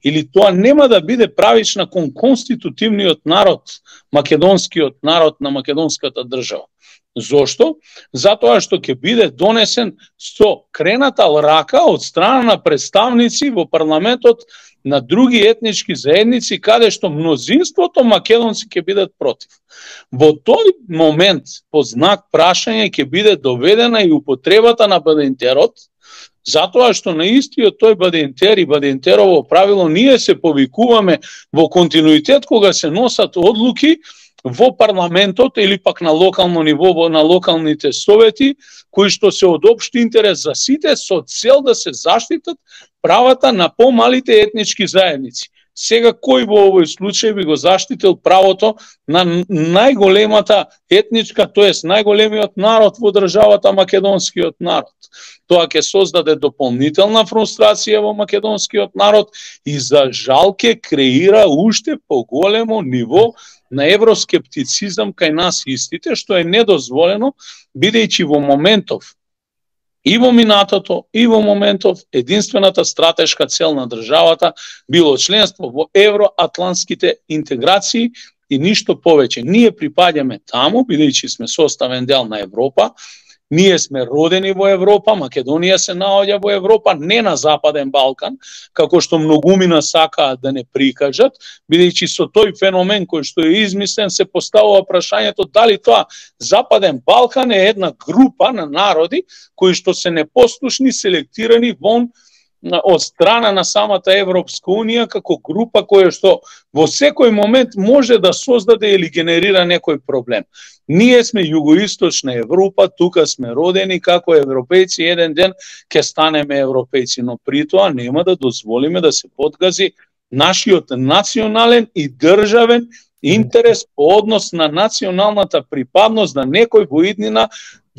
Speaker 2: Или тоа нема да биде правична кон конститутивниот народ, македонскиот народ на македонската држава. Зошто? Затоа што ќе биде донесен со крената рака од страна на представници во парламентот на други етнички заедници, каде што мнозинството македонци ќе бидат против. Во тој момент, по знак прашање, ќе биде доведена и употребата на бадентерот, затоа што на истиот тој бадентер и бадентерово правило ние се повикуваме во континуитет кога се носат одлуки во парламентот или пак на локално ниво, на локалните совети, кои што се од општ интерес за сите, со цел да се заштитат правата на помалите етнички заедници. Сега кој во овој случај би го заштитил правото на најголемата етничка, тоест најголемиот народ во државата, македонскиот народ? Тоа ќе создаде дополнителна фрустрација во македонскиот народ и за жал ќе креира уште поголемо ниво на евроскептицизам кај нас истите, што е недозволено, бидејќи во моментов и во минатото, и во моментов единствената стратешка цел на државата било членство во евроатлантските интеграции и ништо повеќе. Ние припаѓаме таму, бидејќи сме составен дел на Европа, ние сме родени во Европа, Македонија се наоѓа во Европа, не на Западен Балкан, како што многумина сакаат да не прикажат, бидејќи со тој феномен кој што е измислен се поставува прашањето дали тоа Западен Балкан е една група на народи кои што се непослушни, селектирани вон од страна на самата Европска унија како група која што во секој момент може да создаде или генерира некој проблем. Ние сме југоисточна Европа, тука сме родени како европејци, еден ден ќе станеме европејци, но при тоа нема да дозволиме да се подгази нашиот национален и државен интерес по однос на националната припадност, да некој во иднина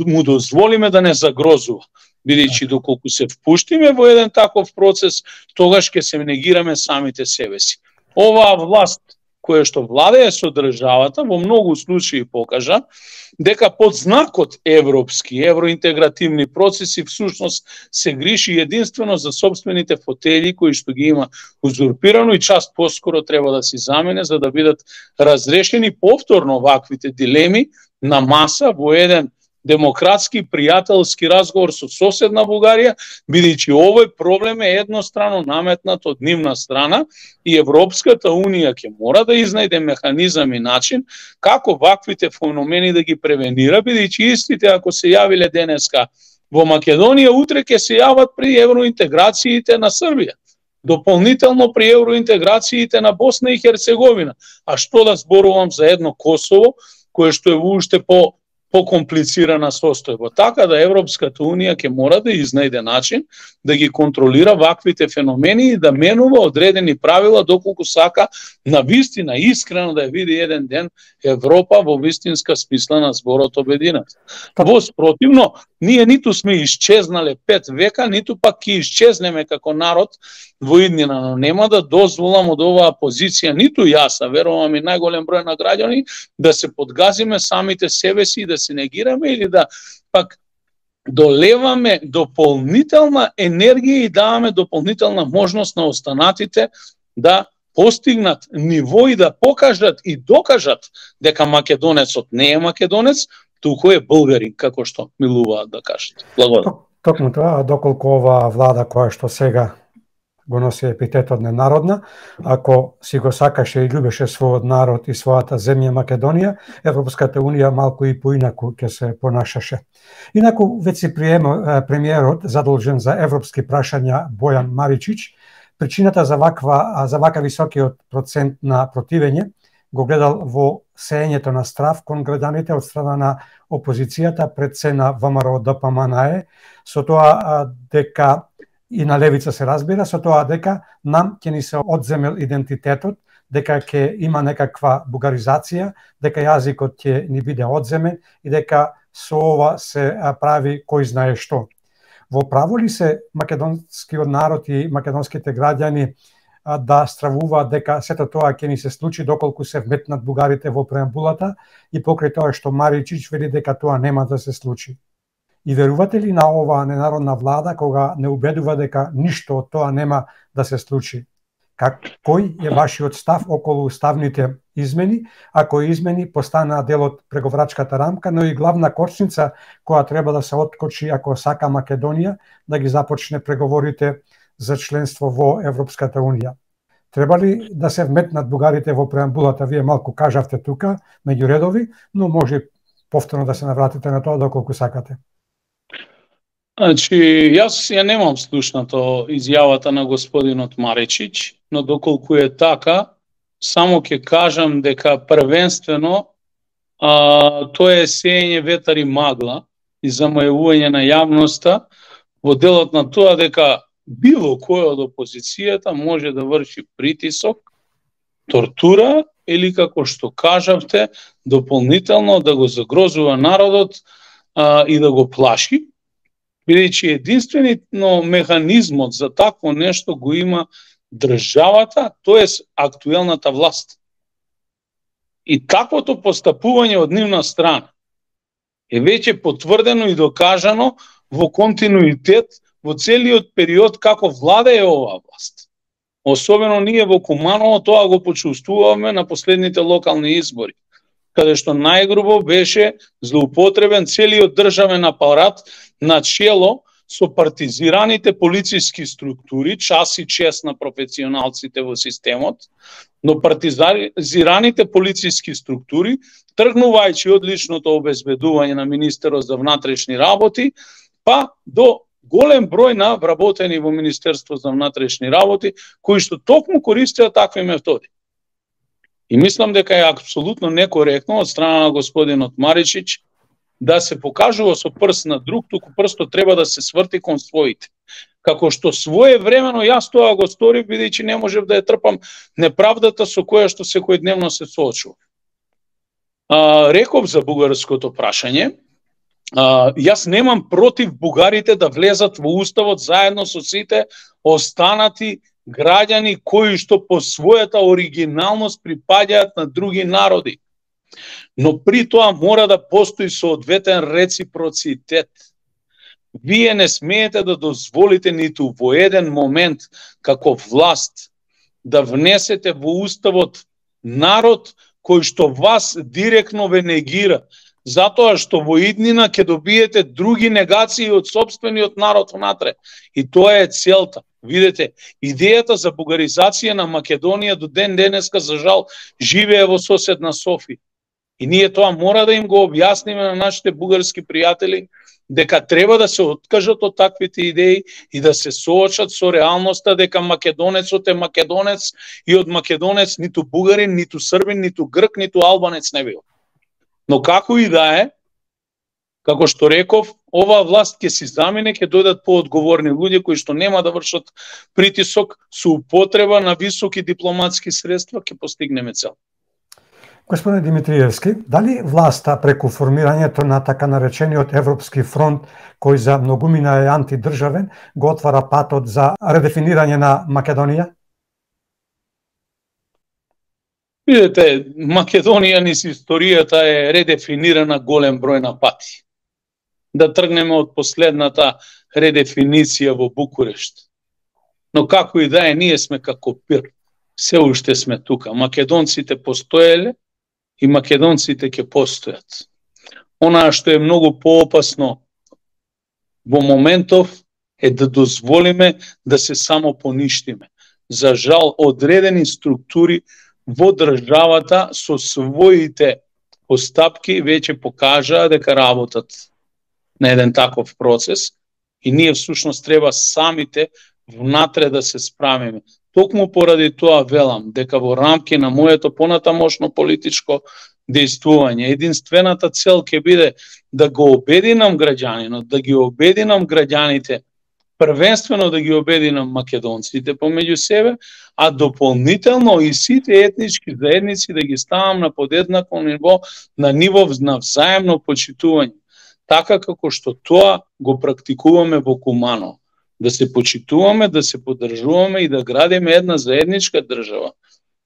Speaker 2: му дозволиме да не загрозува. Бидејќи доколку се впуштиме во еден таков процес, тогаш ќе се негираме самите себе си. Оваа власт која што владее со државата во многу случаи покажа дека под знакот европски, евроинтегративни процеси всушност се грижи единствено за собствените фотели кои што ги има узурпирано и част поскоро треба да си замене за да бидат разрешени повторно ваквите дилеми на маса во еден демократски, пријателски разговор со соседна Бугарија, бидејќи овој проблем е еднострано наметнат од нивна страна и Европската унија ќе мора да изнајде механизам и начин како ваквите феномени да ги превенира, бидејќи истите ако се јавиле денеска во Македонија, утре ќе се јават при евроинтеграциите на Србија, дополнително при евроинтеграциите на Босна и Херцеговина. А што да зборувам за едно Косово, кое што е уште по покомплицирана состојба. Така да Европската унија ќе мора да изнајде начин да ги контролира ваквите феномени и да менува одредени правила доколку сака на вистина искрено да ја види еден ден Европа во вистинска смисла на зборот обединет. Во спротивно, ние ниту сме исчезнале пет века, ниту пак ќе исчезнеме како народ во иднина, но нема да дозволам од оваа позиција, ниту јас, а верувам и најголем број на граѓани, да се подгазиме самите себе си и да се негираме или да пак долеваме дополнителна енергија и даваме дополнителна можност на останатите да постигнат ниво и да покажат и докажат дека македонецот не е македонец, туку е булгарин, како што милуваат да кажат. Благодарам.
Speaker 1: Токму тоа, доколку оваа влада која што сега го носи епитетот ненародна, ако си го сакаше и љубеше својот народ и својата земја Македонија, Европската унија малку и поинаку ќе се понашаше. Инаку, веќе премиерот задолжен за европски прашања Бојан Маричич, причината за ваква за вака високиот процент на противење го гледал во сеењето на страв кон граѓаните од страна на опозицијата пред се на ВМРО Д П М Н Е, со тоа дека и на левица се разбира, со тоа дека нам ќе ни се одземел идентитетот, дека ќе има некаква бугаризација, дека јазикот ќе ни биде одземен и дека со ова се прави кој знае што. Во право ли се македонскиот народ и македонските граѓани да стравуваат дека сето тоа ќе ни се случи доколку се вметнат бугарите во преамбулата и покрај тоа што Маричич вели дека тоа нема да се случи. И верувате ли на оваа ненародна влада кога не убедува дека ништо од тоа нема да се случи? Как, кој е вашиот став околу уставните измени, ако измени постанаа дел од преговарачката рамка, но и главна кочница која треба да се откочи ако сака Македонија да ги започне преговорите за членство во Европската Унија? Треба ли да се вметнат бугарите во преамбулата? Вие малку кажавте тука, меѓу редови, но може повторно да се навратите на тоа доколку сакате.
Speaker 2: Значи, јас ја немам слушнато изјавата на господинот Маричич, но доколку е така, само ќе кажам дека првенствено а, тоа е сеење ветар и магла и замајување на јавноста во делот на тоа дека било кој од опозицијата може да врши притисок, тортура или како што кажавте, дополнително да го загрозува народот а, и да го плаши, бидејќи единствено механизмот за такво нешто го има државата, тоест актуелната власт. И таквото постапување од нивна страна е веќе потврдено и докажано во континуитет во целиот период како влада е оваа власт. Особено ние во Куманово тоа го почувствуваме на последните локални избори, каде што најгрубо беше злоупотребен целиот државен апарат на чело со партизираните полициски структури, час и чест на професионалците во системот, но партизираните полициски структури, тргнувајќи од личното обезбедување на министерот за внатрешни работи, па до голем број на вработени во Министерство за внатрешни работи, кои што токму користеа такви методи. И мислам дека е апсолутно некоректно од страна на господинот Маричич да се покажува со прст на друг, туку прстот треба да се сврти кон своите. Како што своевремено јас тоа го сторив, бидејќи не можев да ја трпам неправдата со која што секојдневно се соочувам. Реков за бугарското прашање, а, јас немам против бугарите да влезат во уставот заедно со сите останати граѓани кои што по својата оригиналност припаѓаат на други народи. Но при тоа мора да постои соодветен реципроцитет. Вие не смеете да дозволите ниту во еден момент како власт да внесете во уставот народ кој што вас директно ве негира, затоа што во иднина ќе добиете други негации од сопствениот народ внатре. И тоа е целта. Видете, идејата за бугаризација на Македонија до ден денеска, за жал, живее во соседна Софија. И ние тоа мора да им го објасниме на нашите бугарски пријатели, дека треба да се откажат од таквите идеи и да се соочат со реалноста дека македонецот е македонец и од македонец ниту бугарин, ниту србин, ниту грк, ниту албанец не бил. Но како и да е, како што реков, оваа власт ќе си замине, ќе дојдат поодговорни луѓе кои што нема да вршат притисок, со употреба на високи дипломатски средства ќе постигнеме цел.
Speaker 1: Господине Димитриевски, дали власта преку формирањето на така наречениот Европски фронт, кој за многумина е антидржавен, го отвара патот за редефинирање на Македонија?
Speaker 2: Видете, Македонија низ историјата е редефинирана голем број на пати. Да тргнеме од последната редефиниција во Букурешт. Но како и да е, ние сме како пир. Се уште сме тука. Македонците постоеле и македонците ќе постојат. Она што е многу поопасно во моментов е да дозволиме да се само поништиме. За жал, одредени структури во државата со своите постапки веќе покажаа дека работат на еден таков процес и ние всушност треба самите внатре да се справиме. Токму поради тоа велам дека во рамки на моето понатамошно политичко дејствување единствената цел ќе биде да го обединам граѓанинот, да ги обединам граѓаните, првенствено да ги обединам македонците помеѓу себе, а дополнително и сите етнички заедници да ги ставам на подеднакво ниво, на ниво на взаемно почитување, така како што тоа го практикуваме во Куманово. да се почитуваме, да се поддржуваме и да градиме една заедничка држава,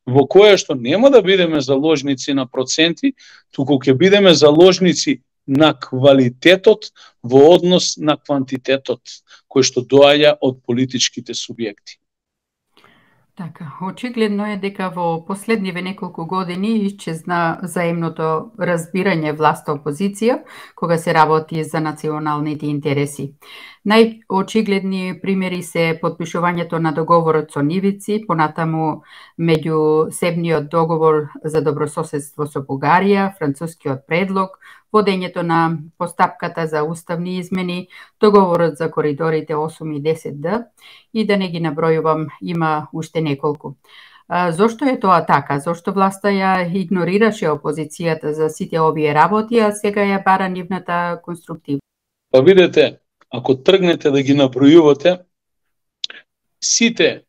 Speaker 2: во која што нема да бидеме заложници на проценти, туку ќе бидеме заложници на квалитетот во однос на квантитетот, кој што доаѓа од политичките субјекти.
Speaker 3: Така, очигледно е дека во последниве неколку години исчезна заемното разбирање власт-опозиција кога се работи за националните интереси. Најочигледни примери се подпишувањето на договорот со нивици, понатаму меѓусебниот договор за добрососедство со Бугарија, францускиот предлог, водењето на постапката за уставни измени, договорот за коридорите осум и десет Д и да не ги набројувам, има уште неколку. А, зошто е тоа така? Зошто власта ја игнорираше опозицијата за сите овие работи, а сега ја бара нивната конструктивност?
Speaker 2: Па видете, ако тргнете да ги набројувате, сите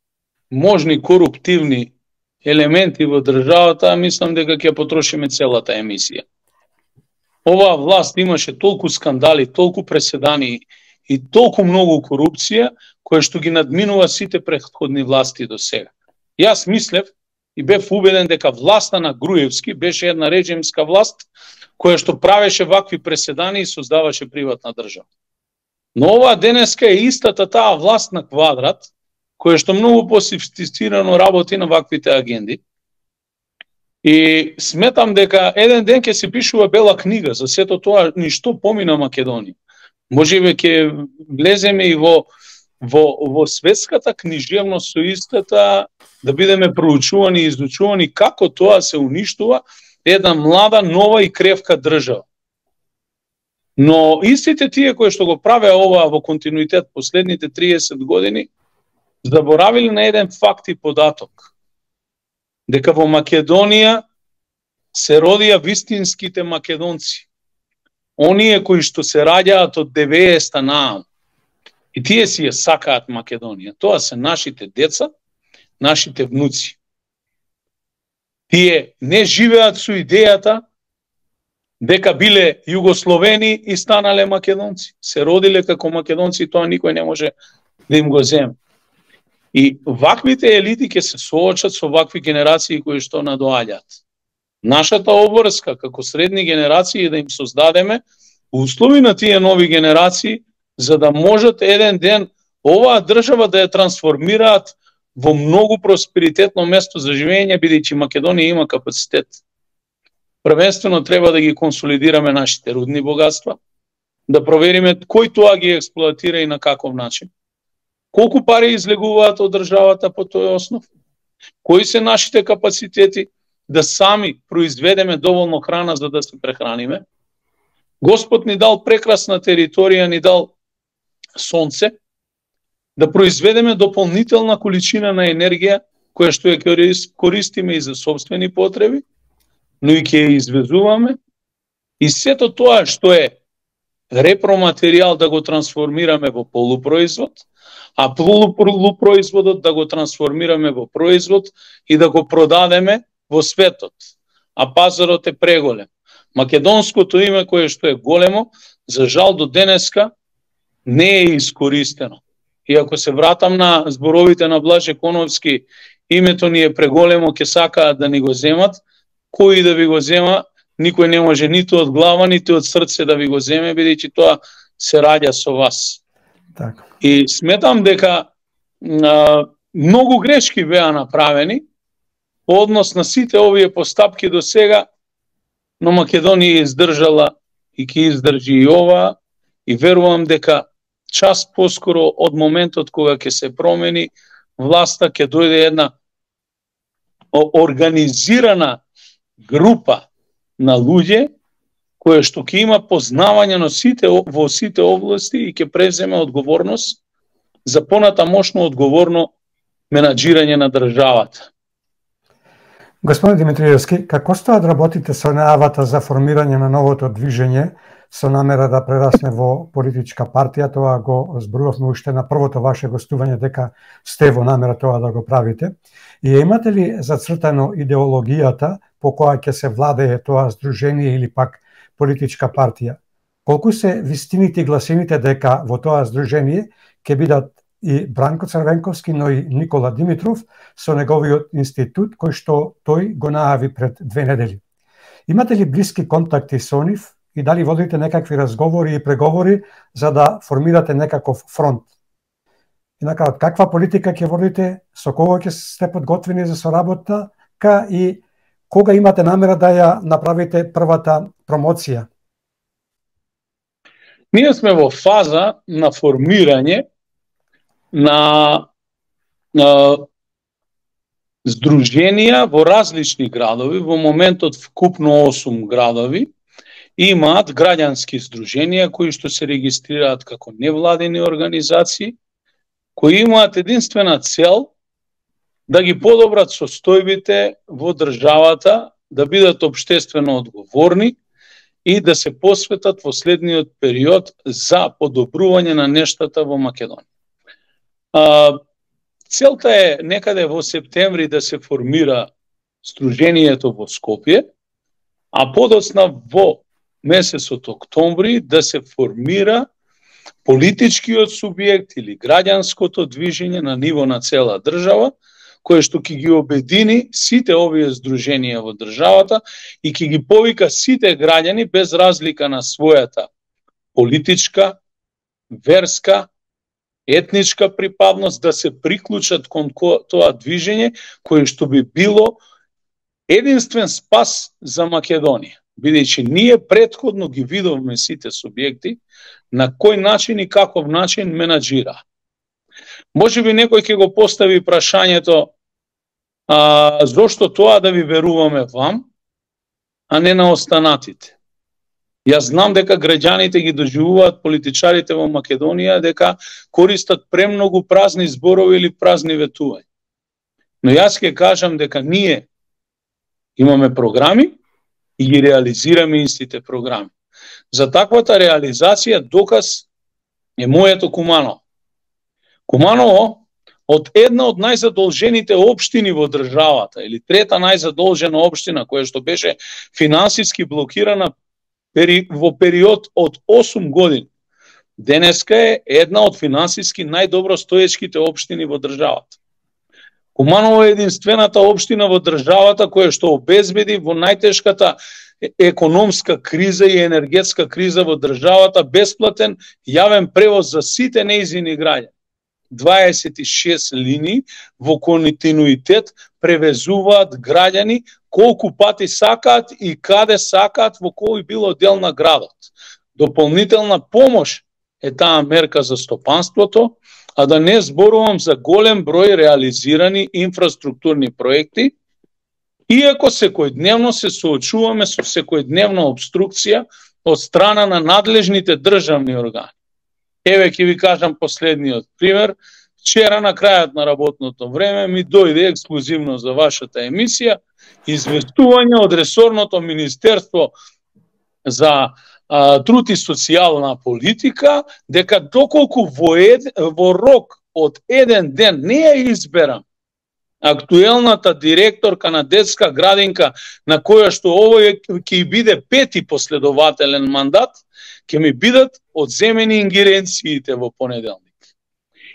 Speaker 2: можни коруптивни елементи во државата, мислам дека ќе потрошиме целата емисија. Оваа власт имаше толку скандали, толку преседани и толку многу корупција, која што ги надминува сите претходни власти до сега. Јас мислев и бев убеден дека власта на Груевски беше една режимска власт, која што правеше вакви преседани и создаваше приватна држава. Но ова денеска е истата таа власт на квадрат, која што многу пософистицирано работи на ваквите агенди. И сметам дека еден ден ќе се пишува бела книга за сето тоа ништо помина Македонија. Можеби ќе влеземе и во во во светската книжевност со истата, да бидеме проучувани и изучувани како тоа се уништува една млада, нова и кревка држава. Но истите тие кои што го правеа ова во континуитет последните триесет години, заборавиле на еден факт и податок. Дека во Македонија се родија вистинските македонци. Оние кои што се раѓаат од деветдесетта наам. И тие си ја сакаат Македонија. Тоа се нашите деца, нашите внуци. Тие не живеат со идејата дека биле југословени и станале македонци. Се родиле како македонци и тоа никој не може да им го земе. И ваквите елити ќе се соочат со вакви генерации кои што надоаѓаат. Нашата обврска како средни генерации е да им создадеме услови на тие нови генерации за да можат еден ден оваа држава да ја трансформираат во многу просперитетно место за живење, бидејќи Македонија има капацитет. Првенствено треба да ги консолидираме нашите рудни богатства, да провериме кој тоа ги експлоатира и на каков начин. Колку пари излегуваат од државата по тој основ? Кои се нашите капацитети да сами произведеме доволно храна за да се прехраниме? Господ ни дал прекрасна територија, ни дал сонце, да произведеме дополнителна количина на енергија, која што ја користиме и за собствени потреби, но и ќе ја извезуваме, и сето тоа што е репроматеријал да го трансформираме во полупроизвод, а полупроизводот да го трансформираме во производ и да го продадеме во светот. А пазарот е преголем. Македонското име кое што е големо, за жал до денеска не е искористено. И ако се вратам на зборовите на Блаже Коновски, името ни е преголемо, ќе сакаат да ни го земат, кој да ви го зема, никој не може ниту од глава, ниту од срце да ви го земе, бидејќи тоа се раѓа со вас.
Speaker 1: Так.
Speaker 2: И сметам дека а, многу грешки беа направени по однос на сите овие постапки до сега, но Македонија издржала и ќе издржи и ова, и верувам дека час поскоро од моментот кога ќе се промени власта, ќе дојде една организирана група на луѓе која што ќе има познавање на сите во сите области и ќе преземе одговорност за понатамошно одговорно менаџирање на државата.
Speaker 1: Господин Димитриевски, како стојат да работите со најавата за формирање на новото движење со намера да прерасне во политичка партија? Тоа го зборувавме уште на првото ваше гостување дека сте во намера тоа да го правите. И имате ли зацртано идеологијата по која ќе се владее тоа здружение или пак политичка партија? Колку се вистините и гласините дека во тоа здружение ќе бидат и Бранко Црвенковски, но и Никола Димитров со неговиот институт кој што тој го најави пред две недели. Имате ли блиски контакти со нив и дали водите некакви разговори и преговори за да формирате некаков фронт? И на крај, каква политика ќе водите, со кого ќе сте подготвени за соработа и кога имате намера да ја направите првата промоција?
Speaker 2: Ние сме во фаза на формирање на, на здруженија во различни градови. Во моментот вкупно осум градови имаат граѓански здруженија кои што се регистрираат како невладени организации, кои имаат единствена цел да ги подобрат состојбите во државата, да бидат општествено одговорни и да се посветат во следниот период за подобрување на нештата во Македонија. А, целта е некаде во септември да се формира сдруженијето во Скопје, а подоцна во месецот октомври да се формира политичкиот субјект или граѓанското движење на ниво на цела држава, кое што ќе ги обедини сите овие здруженија во државата и ќе ги повика сите граѓани без разлика на својата политичка, верска, етничка припадност да се приклучат кон тоа движење кое што би било единствен спас за Македонија. Бидејќи ние претходно ги видовме сите субјекти на кој начин и каков начин менаџира. Може би некој ќе го постави прашањето а, зошто тоа да ви веруваме вам, а не на останатите. Јас знам дека граѓаните ги доживуваат политичарите во Македонија дека користат премногу празни зборови или празни ветувања. Но јас ќе кажам дека ние имаме програми и ги реализираме истите програми. За таквата реализација доказ е моето Куманово. Куманово од една од најзадолжените општини во државата, или трета најзадолжена општина, која што беше финансиски блокирана во период од осум години, денеска е една од финансиски најдобро стоечките општини во државата. Куманово е единствената општина во државата која што обезбеди во најтешката економска криза и енергетска криза во државата бесплатен јавен превоз за сите нејзини граѓани. дваесет и шест линии во континуитет превезуваат граѓани колку пати сакаат и каде сакаат во кој било дел на градот. Дополнителна помош е таа мерка за стопанството, а да не зборувам за голем број реализирани инфраструктурни проекти, иако секојдневно се соочуваме со секојдневна обструкција од страна на надлежните државни органи. Еве ќе ви кажам последниот пример. Вчера на крајот на работното време ми дојде ексклузивно за вашата емисија известување од ресорното Министерство за а, труд и социјална политика дека доколку во, ед, во рок од еден ден не ја изберам актуелната директорка на детска градинка на која што овој ќе биде пети последователен мандат, ќе ми бидат одземени ингеренциите во понеделник.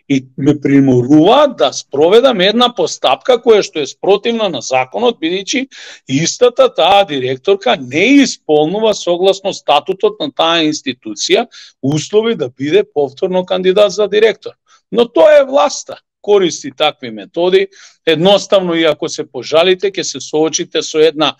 Speaker 2: И ме приморуваат да спроведам една постапка која што е спротивна на законот, бидејќи истата таа директорка не исполнува согласно статутот на таа институција услови да биде повторно кандидат за директор. Но тоа е власта. Користи такви методи. Едноставно, и ако се пожалите, ќе се соочите со една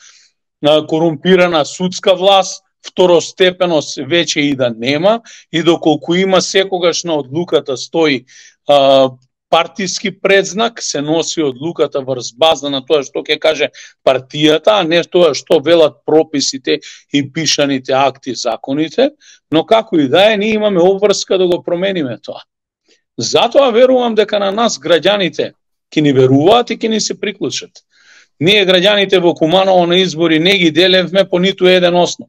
Speaker 2: корумпирана судска власт, второстепеност веќе и да нема, и доколку има секогаш на одлуката стои а, партиски предзнак, се носи одлуката врз база на тоа што ќе каже партијата, а не тоа што велат прописите и пишаните акти, законите, но како и да е, ние имаме обврска да го промениме тоа. Затоа верувам дека на нас граѓаните ќе ни веруваат и ќе ни се приклучат. Ние граѓаните во Куманово на избори не ги делевме по ниту еден основ.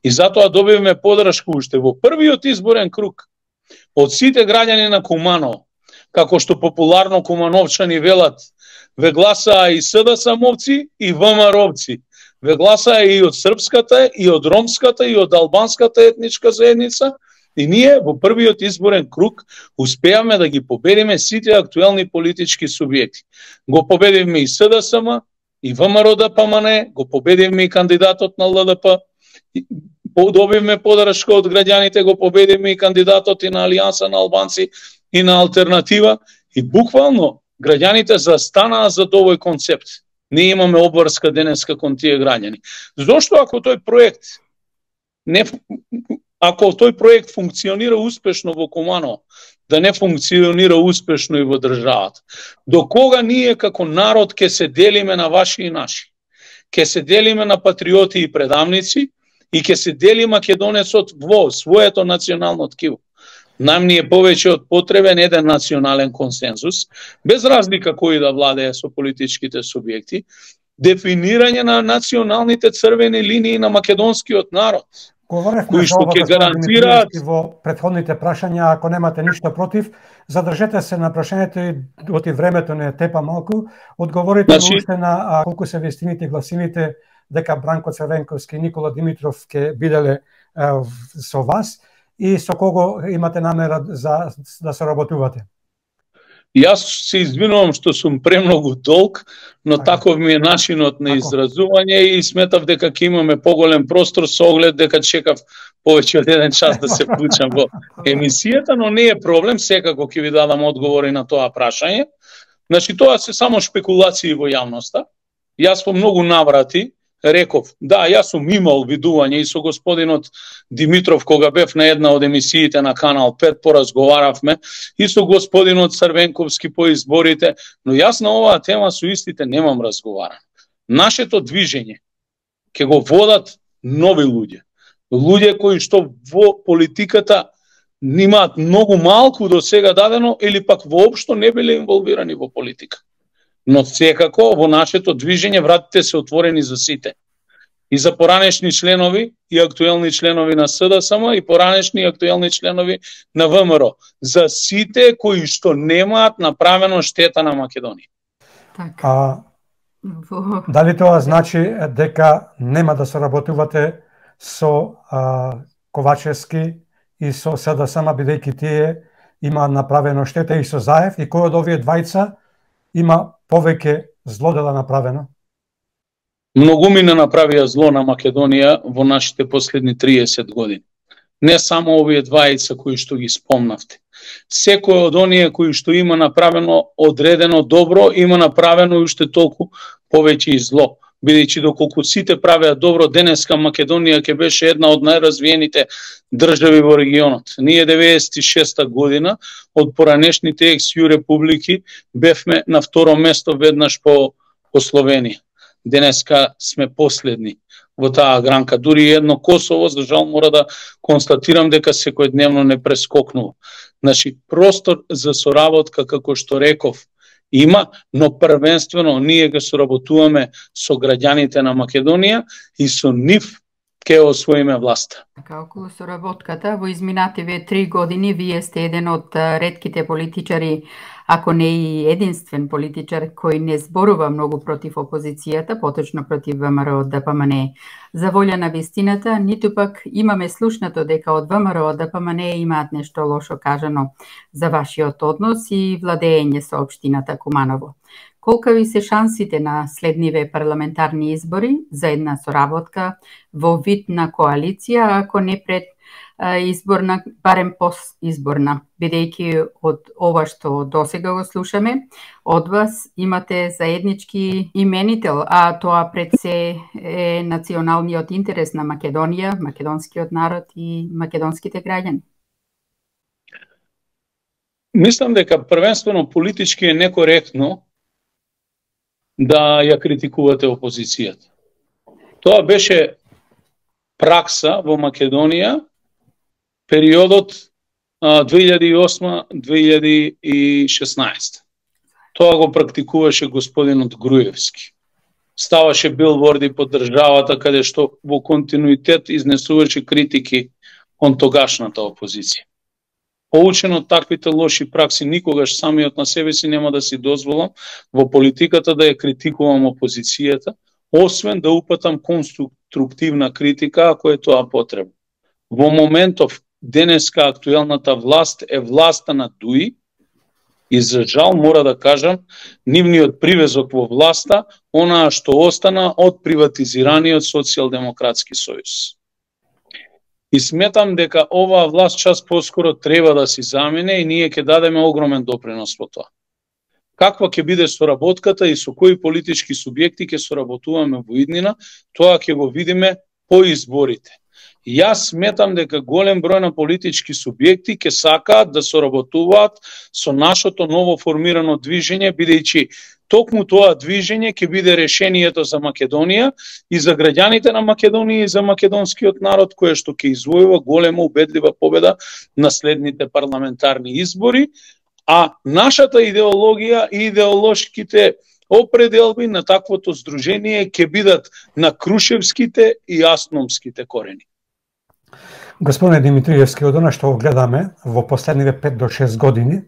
Speaker 2: И затоа добивме подршка уште во првиот изборен круг од сите граѓани на Куманово, како што популарно кумановчани велат, ве гласаа и СДС-мовци и ВМРО-вци. Ве гласаа и од српската, и од ромската, и од албанската етничка заедница, И ние во првиот изборен круг успеавме да ги победиме сите актуелни политички субјекти. Го победивме и СДСМ, и ВМРО-ДПМН, го победивме и кандидатот на ЛДП, добивме подршка од граѓаните, го победивме и кандидатот и на Алијанса на албанци и на Алтернатива, и буквално граѓаните застанаа за овој концепт. Ние имаме обврска денеска кон тие граѓани. Зошто ако тој проект не ако тој проект функционира успешно во Куманово, да не функционира успешно и во државата? До кога ние како народ ќе се делиме на ваши и наши? Ќе се делиме на патриоти и предавници и ќе се дели македонецот во своето национално ткиво. Нам ни е повеќе од потребен еден национален консензус, без разлика кои да владее со политичките субјекти, дефинирање на националните црвени линии на македонскиот народ.
Speaker 1: Говоревме за ова, господин Димитриевски, во претходните прашања. Ако немате ништо против, задржете се на прашањето и оти времето не тепа малку. Одговорите значи... уште на а, колку се вестините и гласините дека Бранко Црвенковски и Никола Димитров ќе биделе а, со вас и со кого имате намера за да соработувате?
Speaker 2: Јас се извинувам што сум премногу долг, но а, таков ми е начинот на изразување и сметав дека ќе имаме поголем простор со оглед дека чекав повеќе од еден час да се вклучам во емисијата, но не е проблем, секако ќе ви дадам одговори на тоа прашање. Значи, тоа се само шпекулации во јавноста. Јас по многу наврати реков, да, јас сум имал видување и со господинот Димитров кога бев на една од емисиите на Канал пет, поразговаравме и со господинот Црвенковски по изборите, но јас на оваа тема со истите немам разговаран. Нашето движење ќе го водат нови луѓе. Луѓе кои што во политиката немаат многу малку до сега дадено или пак воопшто не биле инволвирани во политика. Но секако во нашето движење вратите се отворени за сите. И за поранешни членови и актуелни членови на СДСМ и поранешни и актуелни членови на ВМРО. За сите кои што немаат направено штета на Македонија.
Speaker 1: Так. А, дали тоа значи дека нема да соработувате со а, Ковачевски и со СДСМ, бидејќи тие има направено штета, и со Заев, и кој од овие двајца има повеќе зло да направено?
Speaker 2: Многу ми не направија зло на Македонија во нашите последни триесет години. Не само овие двајца кои што ги спомнавте. Секој од оние кои што има направено одредено добро, има направено уште толку повеќе и зло. Бидејќи доколку сите правеа добро, денеска Македонија ќе беше една од најразвиените држави во регионот. Ние деветдесет и шеста година од поранешните екс-ју републики бевме на второ место веднаш по, по Словенија. Денеска сме последни во таа гранка. Дури едно Косово, за жал, мора да констатирам дека секојдневно не прескокнува. Значи, простор за соработка, како што реков, има, но првенствено ние ќе соработуваме со граѓаните на Македонија и со нив ќе освоиме власта.
Speaker 3: Така, околу соработката, во изминативе три години вие сте еден од ретките политичари, ако не и единствен политичар кој не зборува многу против опозицијата, поточно против ВМРО-ДПМН. За волја на вистината, ниту пак имаме слушнато дека од ВМРО-ДПМН имаат нешто лошо кажано за вашиот однос и владење со општината Куманово. Колкави се шансите на следниве парламентарни избори за една соработка во вид на коалиција, ако не пред изборна, барем постизборна, бидејќи од ова што досега го слушаме, од вас имате заеднички именител, а тоа пред се е националниот интерес на Македонија, македонскиот народ и македонските граѓани.
Speaker 2: Мислам дека првенствено политички е некоректно да ја критикувате опозицијата. Тоа беше пракса во Македонија периодот две илјади и осма - две илјади и шеснаесета. Тоа го практикуваше господинот Груевски. Ставаше билборди по државата каде што во континуитет изнесуваше критики кон тогашната опозиција. Поучен од таквите лоши пракси, никогаш самиот на себе си нема да си дозволам во политиката да ја критикувам опозицијата, освен да упатам конструктивна критика ако е тоа потребно. Во моментов денеска актуелната власт е власта на Дуи и за жал мора да кажам, нивниот привезок во власта, онаа што остана од приватизираниот социјалдемократски сојуз. И сметам дека оваа власт час поскоро треба да си замине и ние ќе дадеме огромен допринос во тоа. Каква ќе биде соработката и со кои политички субјекти ќе соработуваме во иднина, тоа ќе го видиме по изборите. Јас сметам дека голем број на политички субјекти ќе сакаат да соработуваат со нашето ново формирано движење, бидејќи токму тоа движење ќе биде решението за Македонија и за граѓаните на Македонија и за македонскиот народ, кое што ќе извојува голема убедлива победа на следните парламентарни избори, а нашата идеологија и идеолошките определби на таквото здружение ќе бидат на крушевските и асномските корени.
Speaker 1: Господине Димитриевски, од она што го гледаме во последниве пет до шест години,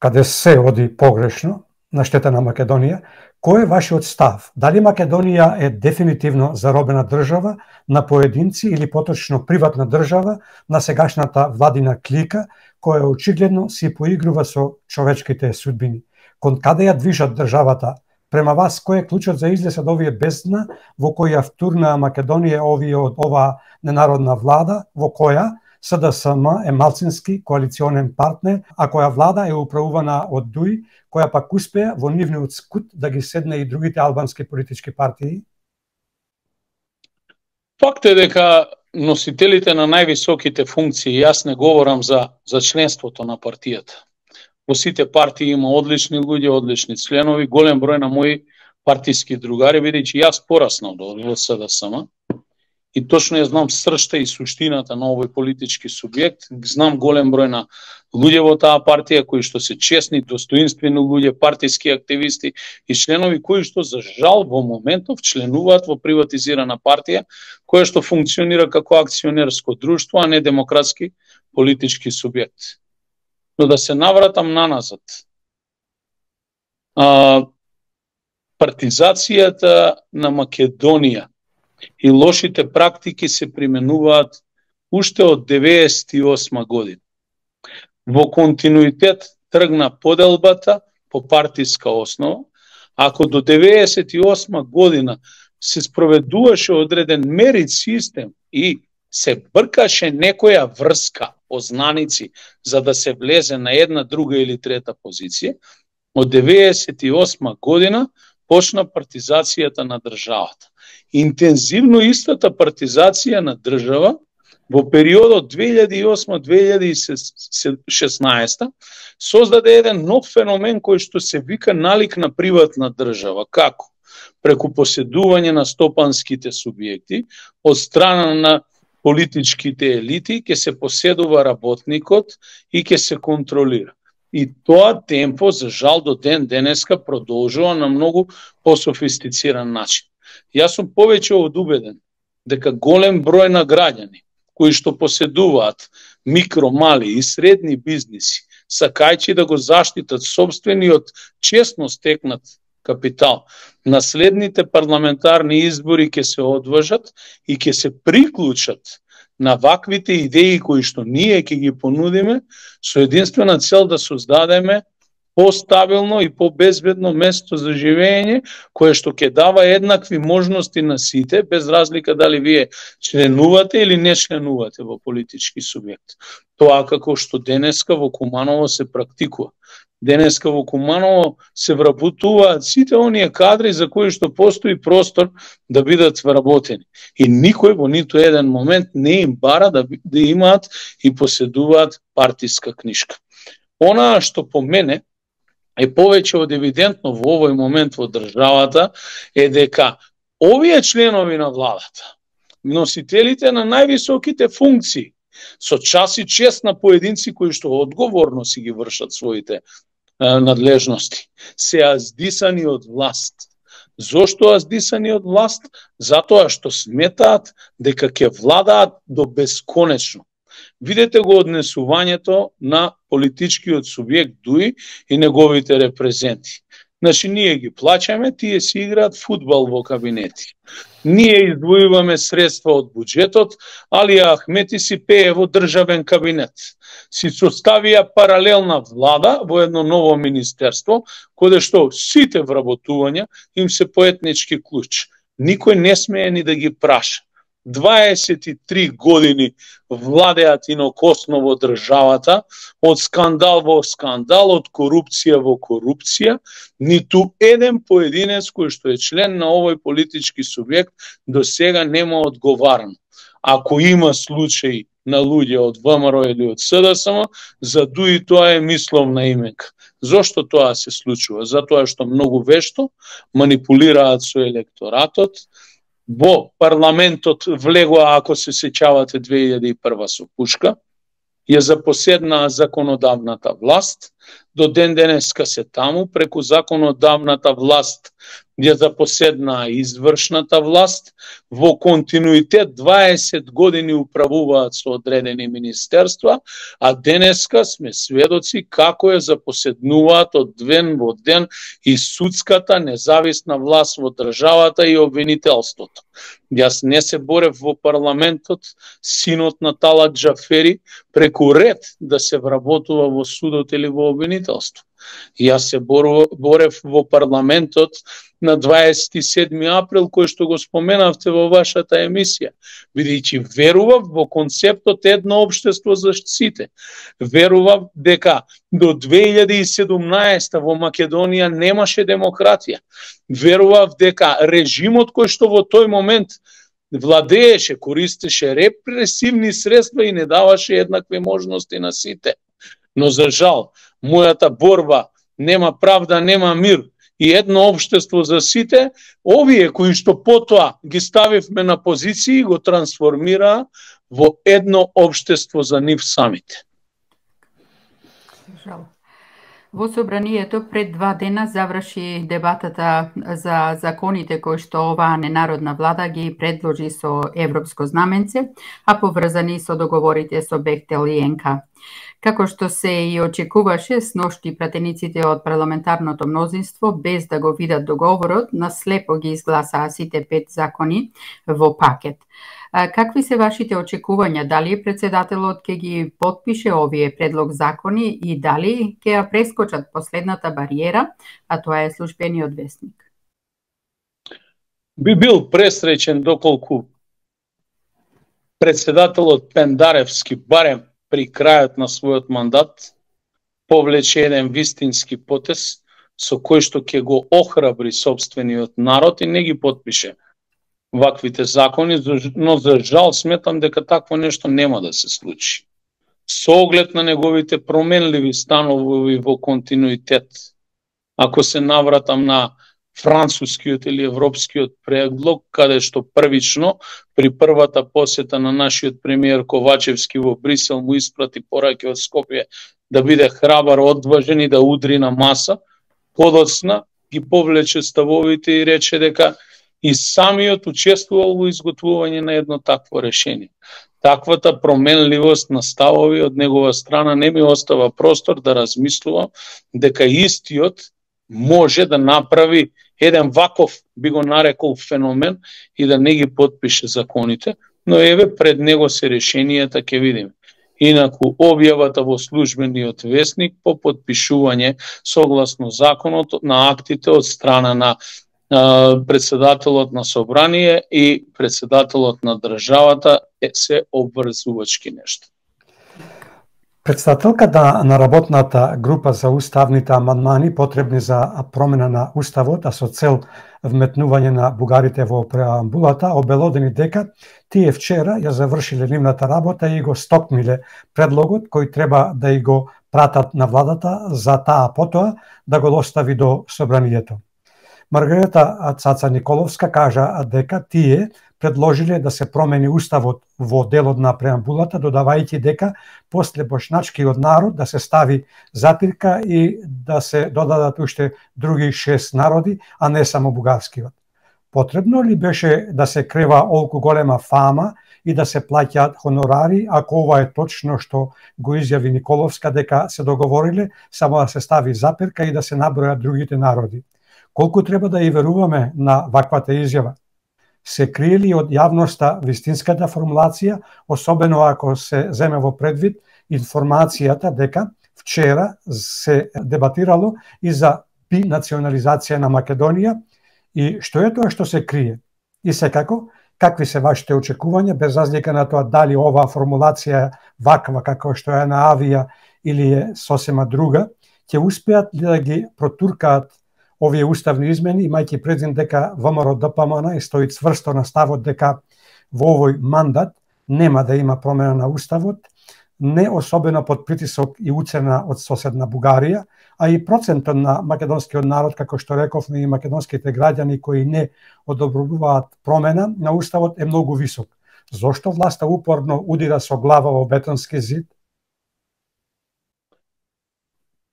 Speaker 1: каде се оди погрешно на штета на Македонија, кој е вашиот став? Дали Македонија е дефинитивно заробена држава на поединци или поточно приватна држава на сегашната владина клика, која очигледно си поигрува со човечките судбини? Кон каде ја движат државата? Према вас, кој е клучот за излез од овие бездна во која втурнаа Македонија овие од оваа ненародна влада, во која СДСМ е малцински коалиционен партнер, а која влада е управувана од Дуи, која пак успеа во нивниот скут да ги седне и другите албански политички партии?
Speaker 2: Факт е дека носителите на највисоките функции, јас не говорам за, за членството на партијата. Во сите партии има одлични луѓе, одлични членови, голем број на мои партиски другари, бидејќи јас пораснав до СДСМ и точно ја знам сршта и суштината на овој политички субјект, знам голем број на луѓе во таа партија кои што се честни, достоинствени луѓе, партиски активисти и членови кои што за жал во моментов членуваат во приватизирана партија која што функционира како акционерско друштво, а не демократски политички субјект. Но да се навратам наназад. А, партизацијата на Македонија и лошите практики се применуваат уште од деветдесет и осма година. Во континуитет тргна поделбата по партиска основа, ако до деветдесет и осма година се спроведуваше одреден мерит систем и се бркаше некоја врска познаници за да се влезе на една, друга или трета позиција, од деветдесет и осма година почна партизацијата на државата. Интензивно истата партизација на држава во периодот две илјади и осма до две илјади и шеснаесета создаде еден нов феномен кој што се вика налик на приватна држава. Како? Преку поседување на стопанските субјекти од страна на политичките елити ќе се поседува работникот и ќе се контролира. И тоа темпо, за жал, до ден денеска продолжува на многу пософистициран начин. Јас сум повеќе од убеден дека голем број на граѓани кои што поседуваат микро, мали и средни бизниси, сакајќи да го заштитат собствениот честно стекнат капитал, на следните парламентарни избори ќе се одважат и ќе се приклучат на ваквите идеи кои што ние ќе ги понудиме со единствена цел да создадеме постабилно и побезбедно место за живење, кое што ќе дава еднакви можности на сите, без разлика дали вие членувате или не членувате во политички субјект. Тоа како што денеска во Куманово се практикува. Денеска во Куманово се вработуваат сите оние кадри за кои што постои простор да бидат вработени. И никој во ниту еден момент не им бара да, да имаат и поседуваат партиска книшка. Она што по мене е повеќе од евидентно во овој момент во државата е дека овие членови на владата, носителите на највисоките функции, со час и чест на поединци кои што одговорно си ги вршат своите е, надлежности, се аздисани од власт. Зошто аздисани од власт? Затоа што сметаат дека ќе владаат до бесконечно. Видете го однесувањето на политичкиот субјект Дуи и неговите репрезенти. Значи, ние ги плаќаме, тие си играат фудбал во кабинети. Ние издвојуваме средства од буџетот, али Ахмети си пее во државен кабинет. Си составија паралелна влада во едно ново министерство, каде што сите вработувања им се по етнички клуч. Никој не смее ни да ги праша. дваесет и три години владеат инокосно во државата, од скандал во скандал, од корупција во корупција, ниту еден поединец кој што е член на овој политички субјект до сега нема одговарано. Ако има случаи на луѓе од ВМРО или од СДСМ, за дуи тоа е мисловна именка. Зошто тоа се случува? Затоа што многу вешто манипулираат со електоратот. Во парламентот влегоа, ако се сеќавате, две илјади и прва со пушка, ја запоседнаа законодавната власт, до ден денеска се таму, преку законодавната власт ја запоседнаа извршната власт, во континуитет дваесет години управуваат со одредени министерства, а денеска сме сведоци како ја запоседнуваат од ден во ден и судската независна власт во државата и обвинителството. Јас не се борев во парламентот, синот на Талат Џафери, преку ред да се вработува во судот или во обвинителство. Јас се борев во парламентот на дваесет и седми април, кој што го споменавте во вашата емисија, бидејќи верував во концептот едно општество за сите. Верував дека до две илјади и седумнаесета во Македонија немаше демократија. Верував дека режимот кој што во тој момент владееше, користеше репресивни средства и не даваше еднакви можности на сите. Но за жал, мојата борба нема правда, нема мир и едно општество за сите, овие кои што потоа ги ставивме на позиции, го трансформираа во едно општество за нив самите.
Speaker 3: Жал. Во собранието пред два дена заврши дебатата за законите кои што оваа ненародна влада ги предложи со европско знаменце, а поврзани со договорите со Бехтел и ен ка. Како што се и очекуваше, сношти пратениците од парламентарното мнозинство, без да го видат договорот, наслепо ги изгласаа сите пет закони во пакет. Какви се вашите очекувања? Дали председателот ќе ги потпише овие предлог закони и дали ќе ја прескочат последната бариера, а тоа е службениот весник?
Speaker 2: Би бил пресреќен доколку председателот Пендаревски барем при крајот на својот мандат повлече еден вистински потез со кој што ќе го охрабри сопствениот народ и не ги потпише ваквите закони, но за жал сметам дека такво нешто нема да се случи. Со оглед на неговите променливи станови во континуитет, ако се навратам на францускиот или европскиот предлог, каде што првично при првата посета на нашиот премиер Ковачевски во Брисел му испрати пораки од Скопје да биде храбар, одважен и да удри на маса, подоцна ги повлече ставовите и рече дека и самиот учествувал во изготвување на едно такво решение. Таквата променливост на ставови од негова страна не ми остава простор да размислувам дека истиот може да направи еден ваков, би го нарекол, феномен и да не ги потпише законите, но еве пред него се решенијата, ќе видиме. Инаку, објавата во службениот весник по потпишување согласно законот на актите од страна на председателот на собрание и председателот на државата се обврзувачки нешто.
Speaker 1: Председателката на работната група за уставните амандмани потребни за промена на уставот, а со цел вметнување на бугарите во преамбулата, обелодени дека тие вчера ја завршиле нивната работа и го стопмиле предлогот кој треба да и го пратат на владата за таа потоа да го достави до собранието. Маргарита Цаца Николовска кажа дека тие предложиле да се промени уставот во делот на преамбулата, додавајќи дека после бошначкиот народ да се стави запирка и да се додадат уште други шест народи, а не само бугарскиот. Потребно ли беше да се крева олку голема фама и да се плаќаат хонорари, ако ова е точно што го изјави Николовска дека се договориле само да се стави запирка и да се набројат другите народи? Колку треба да и веруваме на ваквата изјава? Се крие ли од јавноста вистинската формулација, особено ако се земе во предвид информацијата дека вчера се дебатирало и за бинационализација на Македонија, и што е тоа што се крие? И секако, какви се вашите очекувања, без разлика на тоа дали оваа формулација е ваква како што е на Авија или е сосема друга, ќе успеат ли да ги протуркаат овие уставни измени, имајќи предвид дека ВМРО-ДПМН и стои цврсто на ставот дека во овој мандат нема да има промена на уставот, не особено под притисок и уцена од соседна Бугарија, а и процентот на македонскиот народ, како што рековме, и македонските граѓани кои не одобруваат промена на уставот е многу висок. Зошто власта упорно удира со глава во бетонски зид?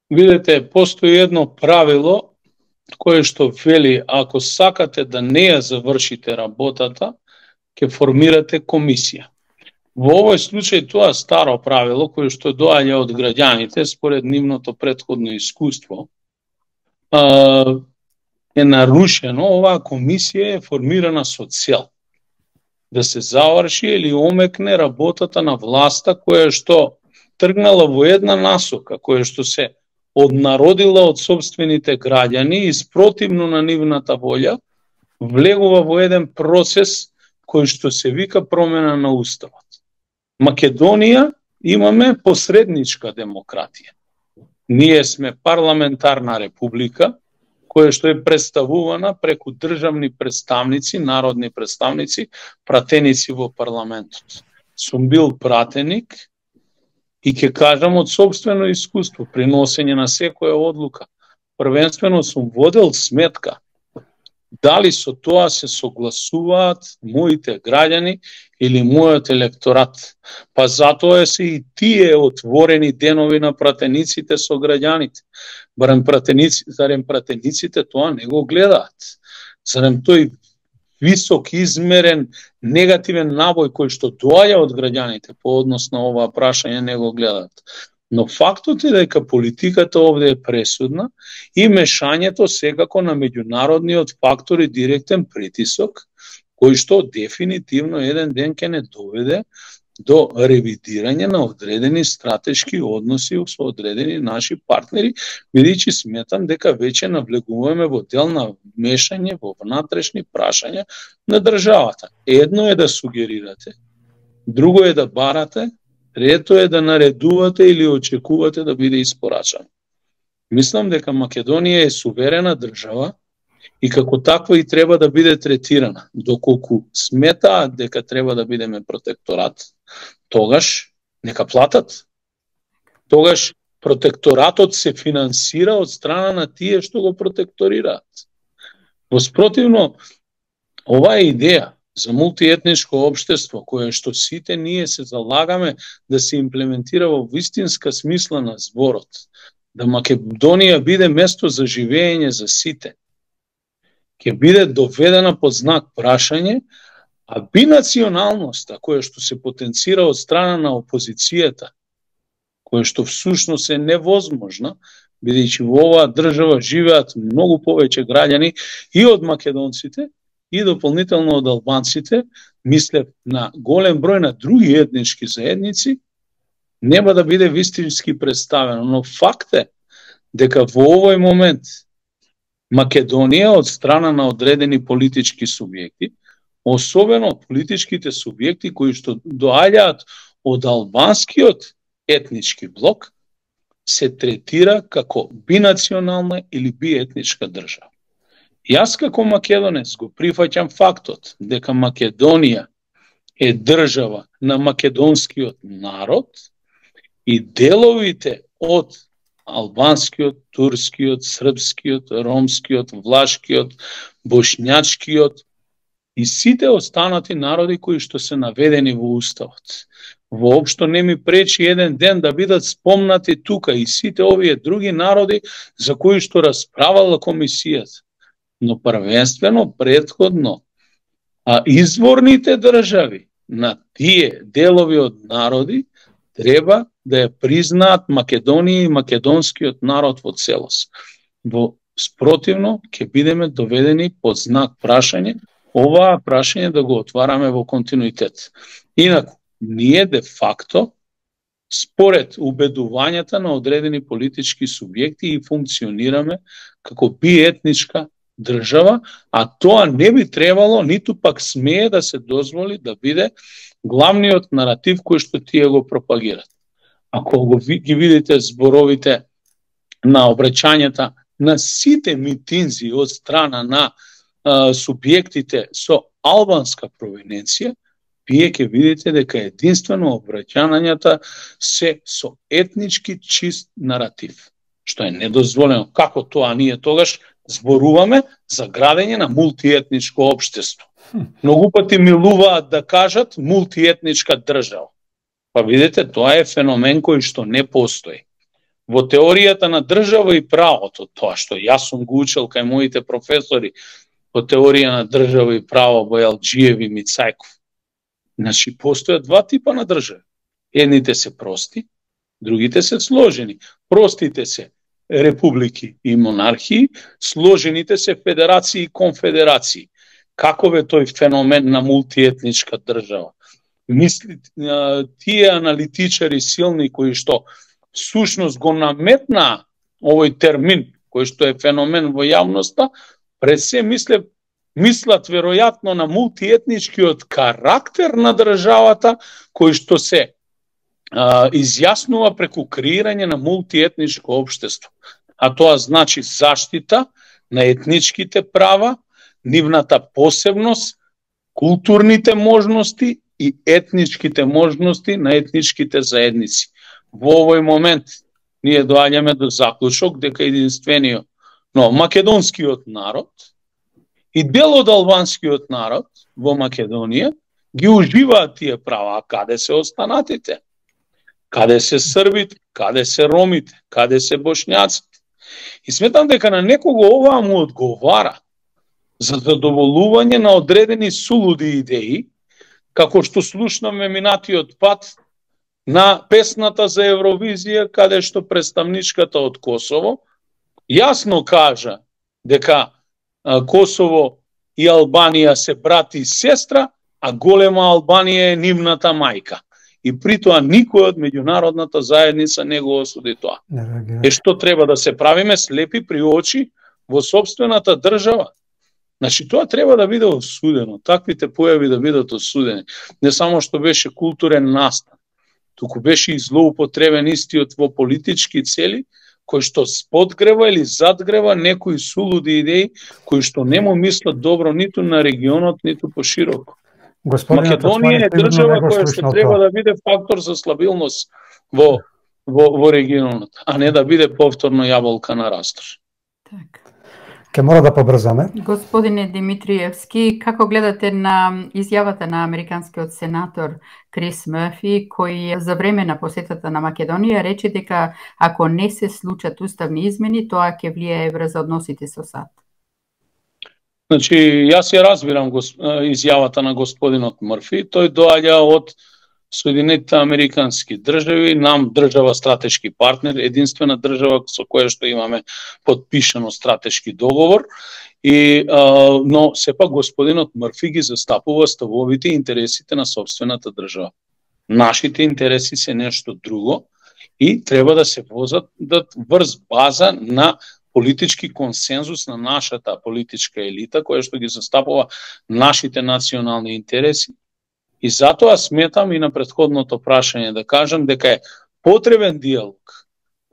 Speaker 2: Видете, постои едно правило кое што вели, ако сакате да не ја завршите работата, ќе формирате комисија. Во овој случај тоа старо правило, кое што доаѓа од граѓаните според нивното претходно искуство, е нарушено. Оваа комисија е формирана со цел да се заврши или омекне работата на власта која што тргнала во една насока, која што се однародила од собствените граѓани и спротивно на нивната волја, влегува во еден процес кој што се вика промена на уставот. Македонија имаме посредничка демократија. Ние сме парламентарна република, која што е представувана преку државни представници, народни представници, пратеници во парламентот. Сум бил пратеник и ќе кажам од собствено искуство, при носење на секоја одлука. Првенствено сум водел сметка дали со тоа се согласуваат моите граѓани или мојот електорат. Па затоа се и тие отворени денови на пратениците со граѓаните. Барем пратеници, зарем пратениците тоа не го гледаат. Зарем тој висок измерен негативен набој кој што доаѓа од граѓаните по однос на оваа прашање не го гледаат. Но фактот е дека политиката овде е пресудна и мешањето секако на меѓународниот фактор и директен притисок, кој што дефинитивно еден ден ќе не доведе до ревидирање на одредени стратешки односи со одредени наши партнери, бидејќи сметам дека веќе навлегуваме во дел на мешање во внатрешни прашања на државата. Едно е да сугерирате, друго е да барате, трето е да наредувате или очекувате да биде испорачано. Мислам дека Македонија е суверена држава и како таква и треба да биде третирана. Доколку сметаат дека треба да бидеме протекторат, тогаш нека платат. Тогаш протекторатот се финансира од страна на тие што го протекторираат. Воспротивно, оваа идеја за мултиетничко општество, кое што сите ние се залагаме да се имплементира во вистинска смисла на зборот, да Македонија биде место за живење за сите, ќе биде доведена под знак прашање, а бинационалноста, која што се потенцира од страна на опозицијата, која што всушност е невозможна, бидејќи во оваа држава живеат многу повеќе граѓани и од македонците, и дополнително од албанците, мислев на голем број на други етнички заедници, нема да биде вистински представено. Но факт е дека во овој момент Македонија од страна на одредени политички субјекти, особено политичките субјекти кои што доаѓаат од албанскиот етнички блок, се третира како бинационална или биетничка држава. Јас како македонец го прифаќам фактот дека Македонија е држава на македонскиот народ и деловите од албанскиот, турскиот, српскиот, ромскиот, влашкиот, бошњачкиот и сите останати народи кои што се наведени во уставот. Воопшто не ми пречи еден ден да бидат спомнати тука и сите овие други народи за кои што расправала комисијата. но првенствено претходно а изворните држави на тие делови од народи треба да ја признаат Македонија и македонскиот народ во целост. Во спротивно ќе бидеме доведени под знак прашање, оваа прашање да го отвараме во континуитет. Инаку, ние де факто, според убедувањата на одредени политички субјекти и функционираме како биетничка држава, а тоа не би требало, ниту пак смее да се дозволи да биде главниот наратив кој што тие го пропагираат. Ако го ги видите зборовите на обраќањата на сите митинзи од страна на а, субјектите со албанска провиненција, вие ќе видите дека единствено обраќањата се со етнички чист наратив, што е недозволено. Како тоа ние тогаш зборуваме за градење на мултиетничко општество? Многу пати милуваат да кажат мултиетничка држава. Па видите, тоа е феномен кој што не постои. Во теоријата на држава и правото, тоа што јас сум го учел кај моите професори по теорија на држава и право Бојалџиев и Мицајков. Значи, постојат два типа на држави. Едните се прости, другите се сложени. Простите се републики и монархии, сложените се федерации и конфедерации. Каков е тој феномен на мултиетничка држава? Мисли, тие аналитичари силни кои што сушност го наметна овој термин, кој што е феномен во јавноста, пред се мисле, мислат веројатно на мултиетничкиот карактер на државата, кој што се а, изјаснува преку креирање на мултиетничко општество. А тоа значи заштита на етничките права, нивната посебност, културните можности и етничките можности на етничките заедници. Во овој момент ние доаѓаме до заклучок дека единствениот, но македонскиот народ и дел од албанскиот народ во Македонија ги уживаат тие права, а каде се останатите? Каде се србите, каде се ромите, каде се бошњаците? И сметам дека на некого оваа му одговара за задоволување на одредени сулуди идеи, како што слушнаме минатиот пат на песната за Евровизија, каде што представничката од Косово јасно кажа дека Косово и Албанија се брат и сестра, а голема Албанија е нивната мајка. И при тоа никој од меѓународната заедница не го осуди тоа. Е што треба да се правиме слепи при очи во сопствената држава? Значи, тоа треба да биде осудено, таквите појави да бидат осудени. Не само што беше културен настан, туку беше и злоупотребен истиот во политички цели, кој што подгрева или задгрева некои сулуди идеи, кои што не му мислат добро ниту на регионот, ниту пошироко. Македонија е држава која што треба да биде фактор за стабилност во, во, во регионот, а не да биде повторно јаболка на растор.
Speaker 3: Так.
Speaker 1: Ке мора да побрзаме.
Speaker 3: Господине Димитриевски, како гледате на изјавата на американскиот сенатор Крис Мърфи, кој за време на посетата на Македонија рече дека ако не се случат уставни измени, тоа ќе влијае врз односите со САД?
Speaker 2: Значи, јас ја разбирам гос... изјавата на господинот Мърфи. Тој доаѓа од Соединетите Американски држави, нам држава стратешки партнер, единствена држава со која што имаме подпишано стратешки договор, и, а, но сепак господинот Мърфи ги застапува ставовите и интересите на собствената држава. Нашите интереси се нешто друго и треба да се возат да врз база на политички консензус на нашата политичка елита, која што ги застапува нашите национални интереси. И затоа сметам и на претходното прашање да кажам дека е потребен диалог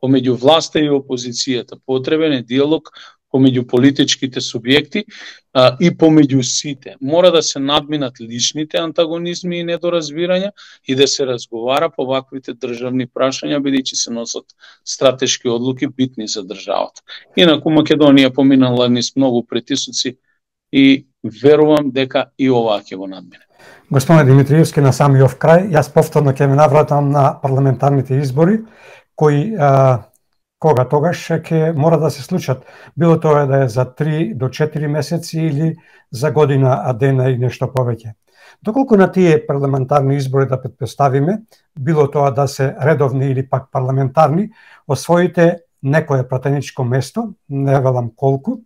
Speaker 2: помеѓу власта и опозицијата, потребен е диалог помеѓу политичките субјекти а, и помеѓу сите. Мора да се надминат личните антагонизми и недоразбирања и да се разговара по ваквите државни прашања, бидејќи се носат стратешки одлуки битни за државата. Инаку Македонија поминала низ многу притисоци и верувам дека и оваа ќе го надмине.
Speaker 1: Господине Димитриевски, на самиот крај, јас повторно ќе ме навратам на парламентарните избори, кои, а, Кога тогаш ќе мора да се случат, било тоа да е за три до четири месеци или за година, а дена и нешто повеќе. Доколку на тие парламентарни избори да претпоставиме, било тоа да се редовни или пак парламентарни, освоите некое пратеничко место, не велам колку,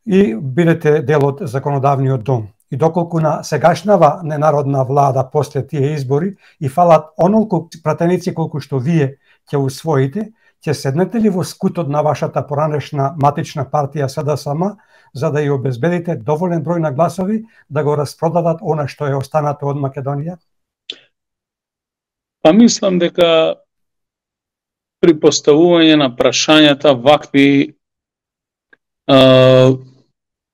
Speaker 1: и бидете дел од законодавниот дом. И доколку на сегашнава ненародна влада после тие избори и фалат онолку пратеници колку што вие ќе усвоите, ќе седнете ли во скутот на вашата поранешна матична партија СДСМ за да ја обезбедите доволен број на гласови да го распродадат она што е останато од Македонија?
Speaker 2: Па мислам дека при поставување на прашањата вакви е,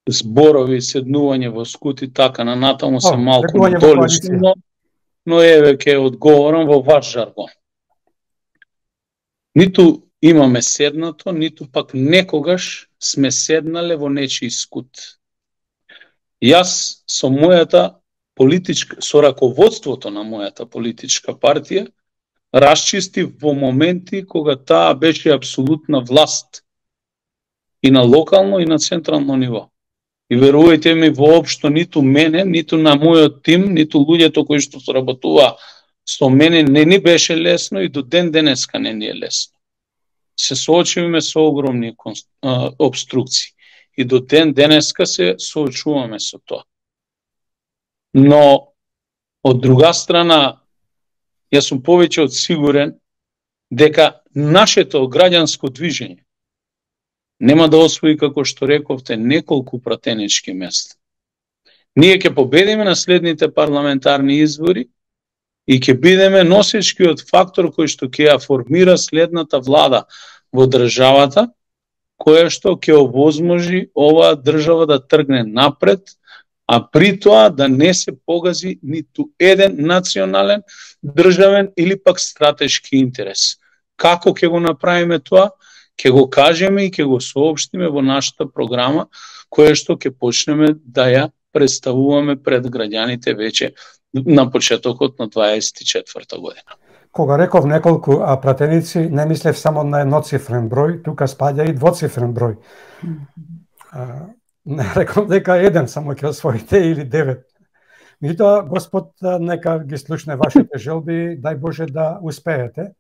Speaker 2: зборови, седнување во скути, така на натаму се малку недолично, но еве ќе одговорам во ваш жаргон. Ниту имаме седнато, ниту пак некогаш сме седнале во нечии скут. Јас со мојата политичка, со раководството на мојата политичка партија, расчистив во моменти кога таа беше апсолутна власт и на локално и на централно ниво. И верувајте ми, воопшто ниту мене, ниту на мојот тим, ниту луѓето кои што соработува со мене не ни беше лесно и до ден денеска не ни е лесно. Се соочуваме со огромни обструкции и до ден денеска се соочуваме со тоа. Но од друга страна, јас сум повеќе од сигурен дека нашето граѓанско движење нема да освои, како што рековте, неколку пратенички места. Ние ќе победиме на следните парламентарни избори и ќе бидеме носечкиот фактор кој што ќе ја формира следната влада во државата, која што ќе овозможи оваа држава да тргне напред, а при тоа да не се погази ниту еден национален, државен или пак стратешки интерес. Како ќе го направиме тоа? Ќе го кажеме и ќе го соопштиме во нашата програма, која што ќе почнеме да ја представуваме пред граѓаните веќе на почетокот на дваесет и четврта година.
Speaker 1: Кога реков неколку а, пратеници, не мислев само на едноцифрен број, тука спаѓа и двоцифрен број. А, не реков дека еден само ќе освоите или девет. Меѓутоа, Господ нека ги слушне вашите желби, дај Боже да успеете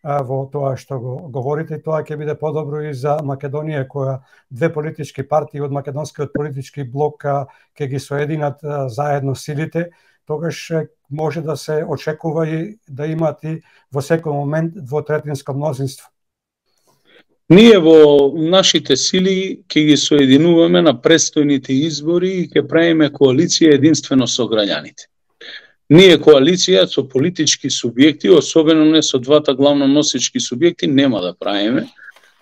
Speaker 1: во тоа што го говорите, тоа ќе биде подобро и за Македонија, која две политички партии од македонскиот политички блок ќе ги соединат заедно силите, тогаш може да се очекува и да имат и во секој момент двотретинско мнозинство.
Speaker 2: Ние во нашите сили ќе ги соединуваме на престојните избори и ќе правиме коалиција единствено со граѓаните. Ние коалиција со политички субјекти, особено не со двата главно носечки субјекти, нема да правиме,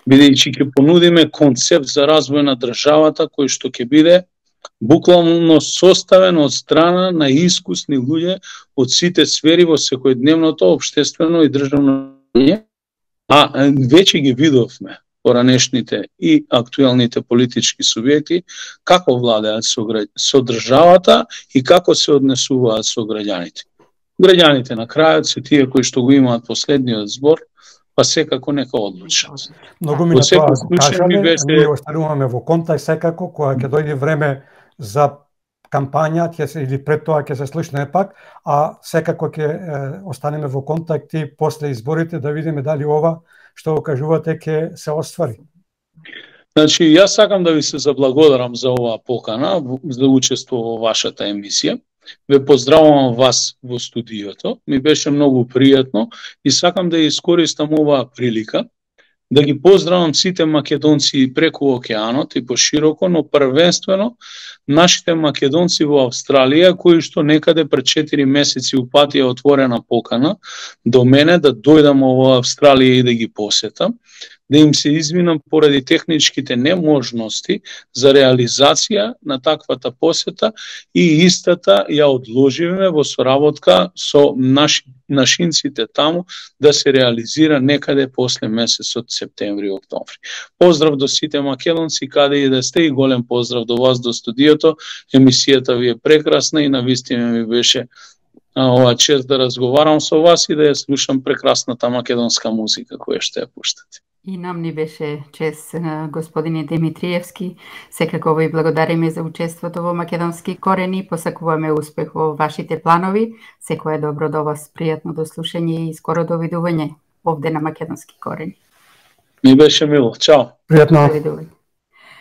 Speaker 2: бидејќи ќе понудиме концепт за развој на државата кој што ќе биде буквално составен од страна на искусни луѓе од сите сфери во секојдневното општествено и државно житие, а веќе ги видовме поранешните и актуелните политички субјекти како владеат со, со државата и како се однесуваат со граѓаните. Граѓаните на крајот се тие кои што го имаат последниот збор, па секако нека одлучат.
Speaker 1: Многу ми на тоа го кажаме, беше... ние остануваме во контакт секако, кога ќе дојде време за кампања, ќе се, или пред тоа ќе се слушне пак, а секако ќе е, останеме во контакт и после изборите да видиме дали ова што го кажувате ќе се оствари.
Speaker 2: Значи, јас сакам да ви се заблагодарам за оваа покана, за учество во вашата емисија. Ве поздравувам вас во студиото. Ми беше многу пријатно и сакам да искористам оваа прилика да ги поздравам сите македонци преку океанот и пошироко, но првенствено нашите македонци во Австралија, кои што некаде пред четири месеци упатија отворена покана до мене да дојдам во Австралија и да ги посетам, да им се извинам поради техничките неможности за реализација на таквата посета и истата ја одложиме во соработка со наши, нашинците таму да се реализира некаде после месецот септември-октомври. Поздрав до сите македонци каде и да сте и голем поздрав до вас до студиото. Емисијата ви е прекрасна и навистина ми беше ова чест да разговарам со вас и да ја слушам прекрасната македонска музика која што ја пуштате.
Speaker 3: И нам ни беше чест, господине Димитриевски. Секако ви благодариме за учеството во Македонски корени. Посакуваме успех во вашите планови. Секое добро до вас, пријатно до слушање и скоро довидување овде на Македонски корени.
Speaker 2: Ми беше мило. Чао.
Speaker 1: Пријатно.
Speaker 3: Довидување.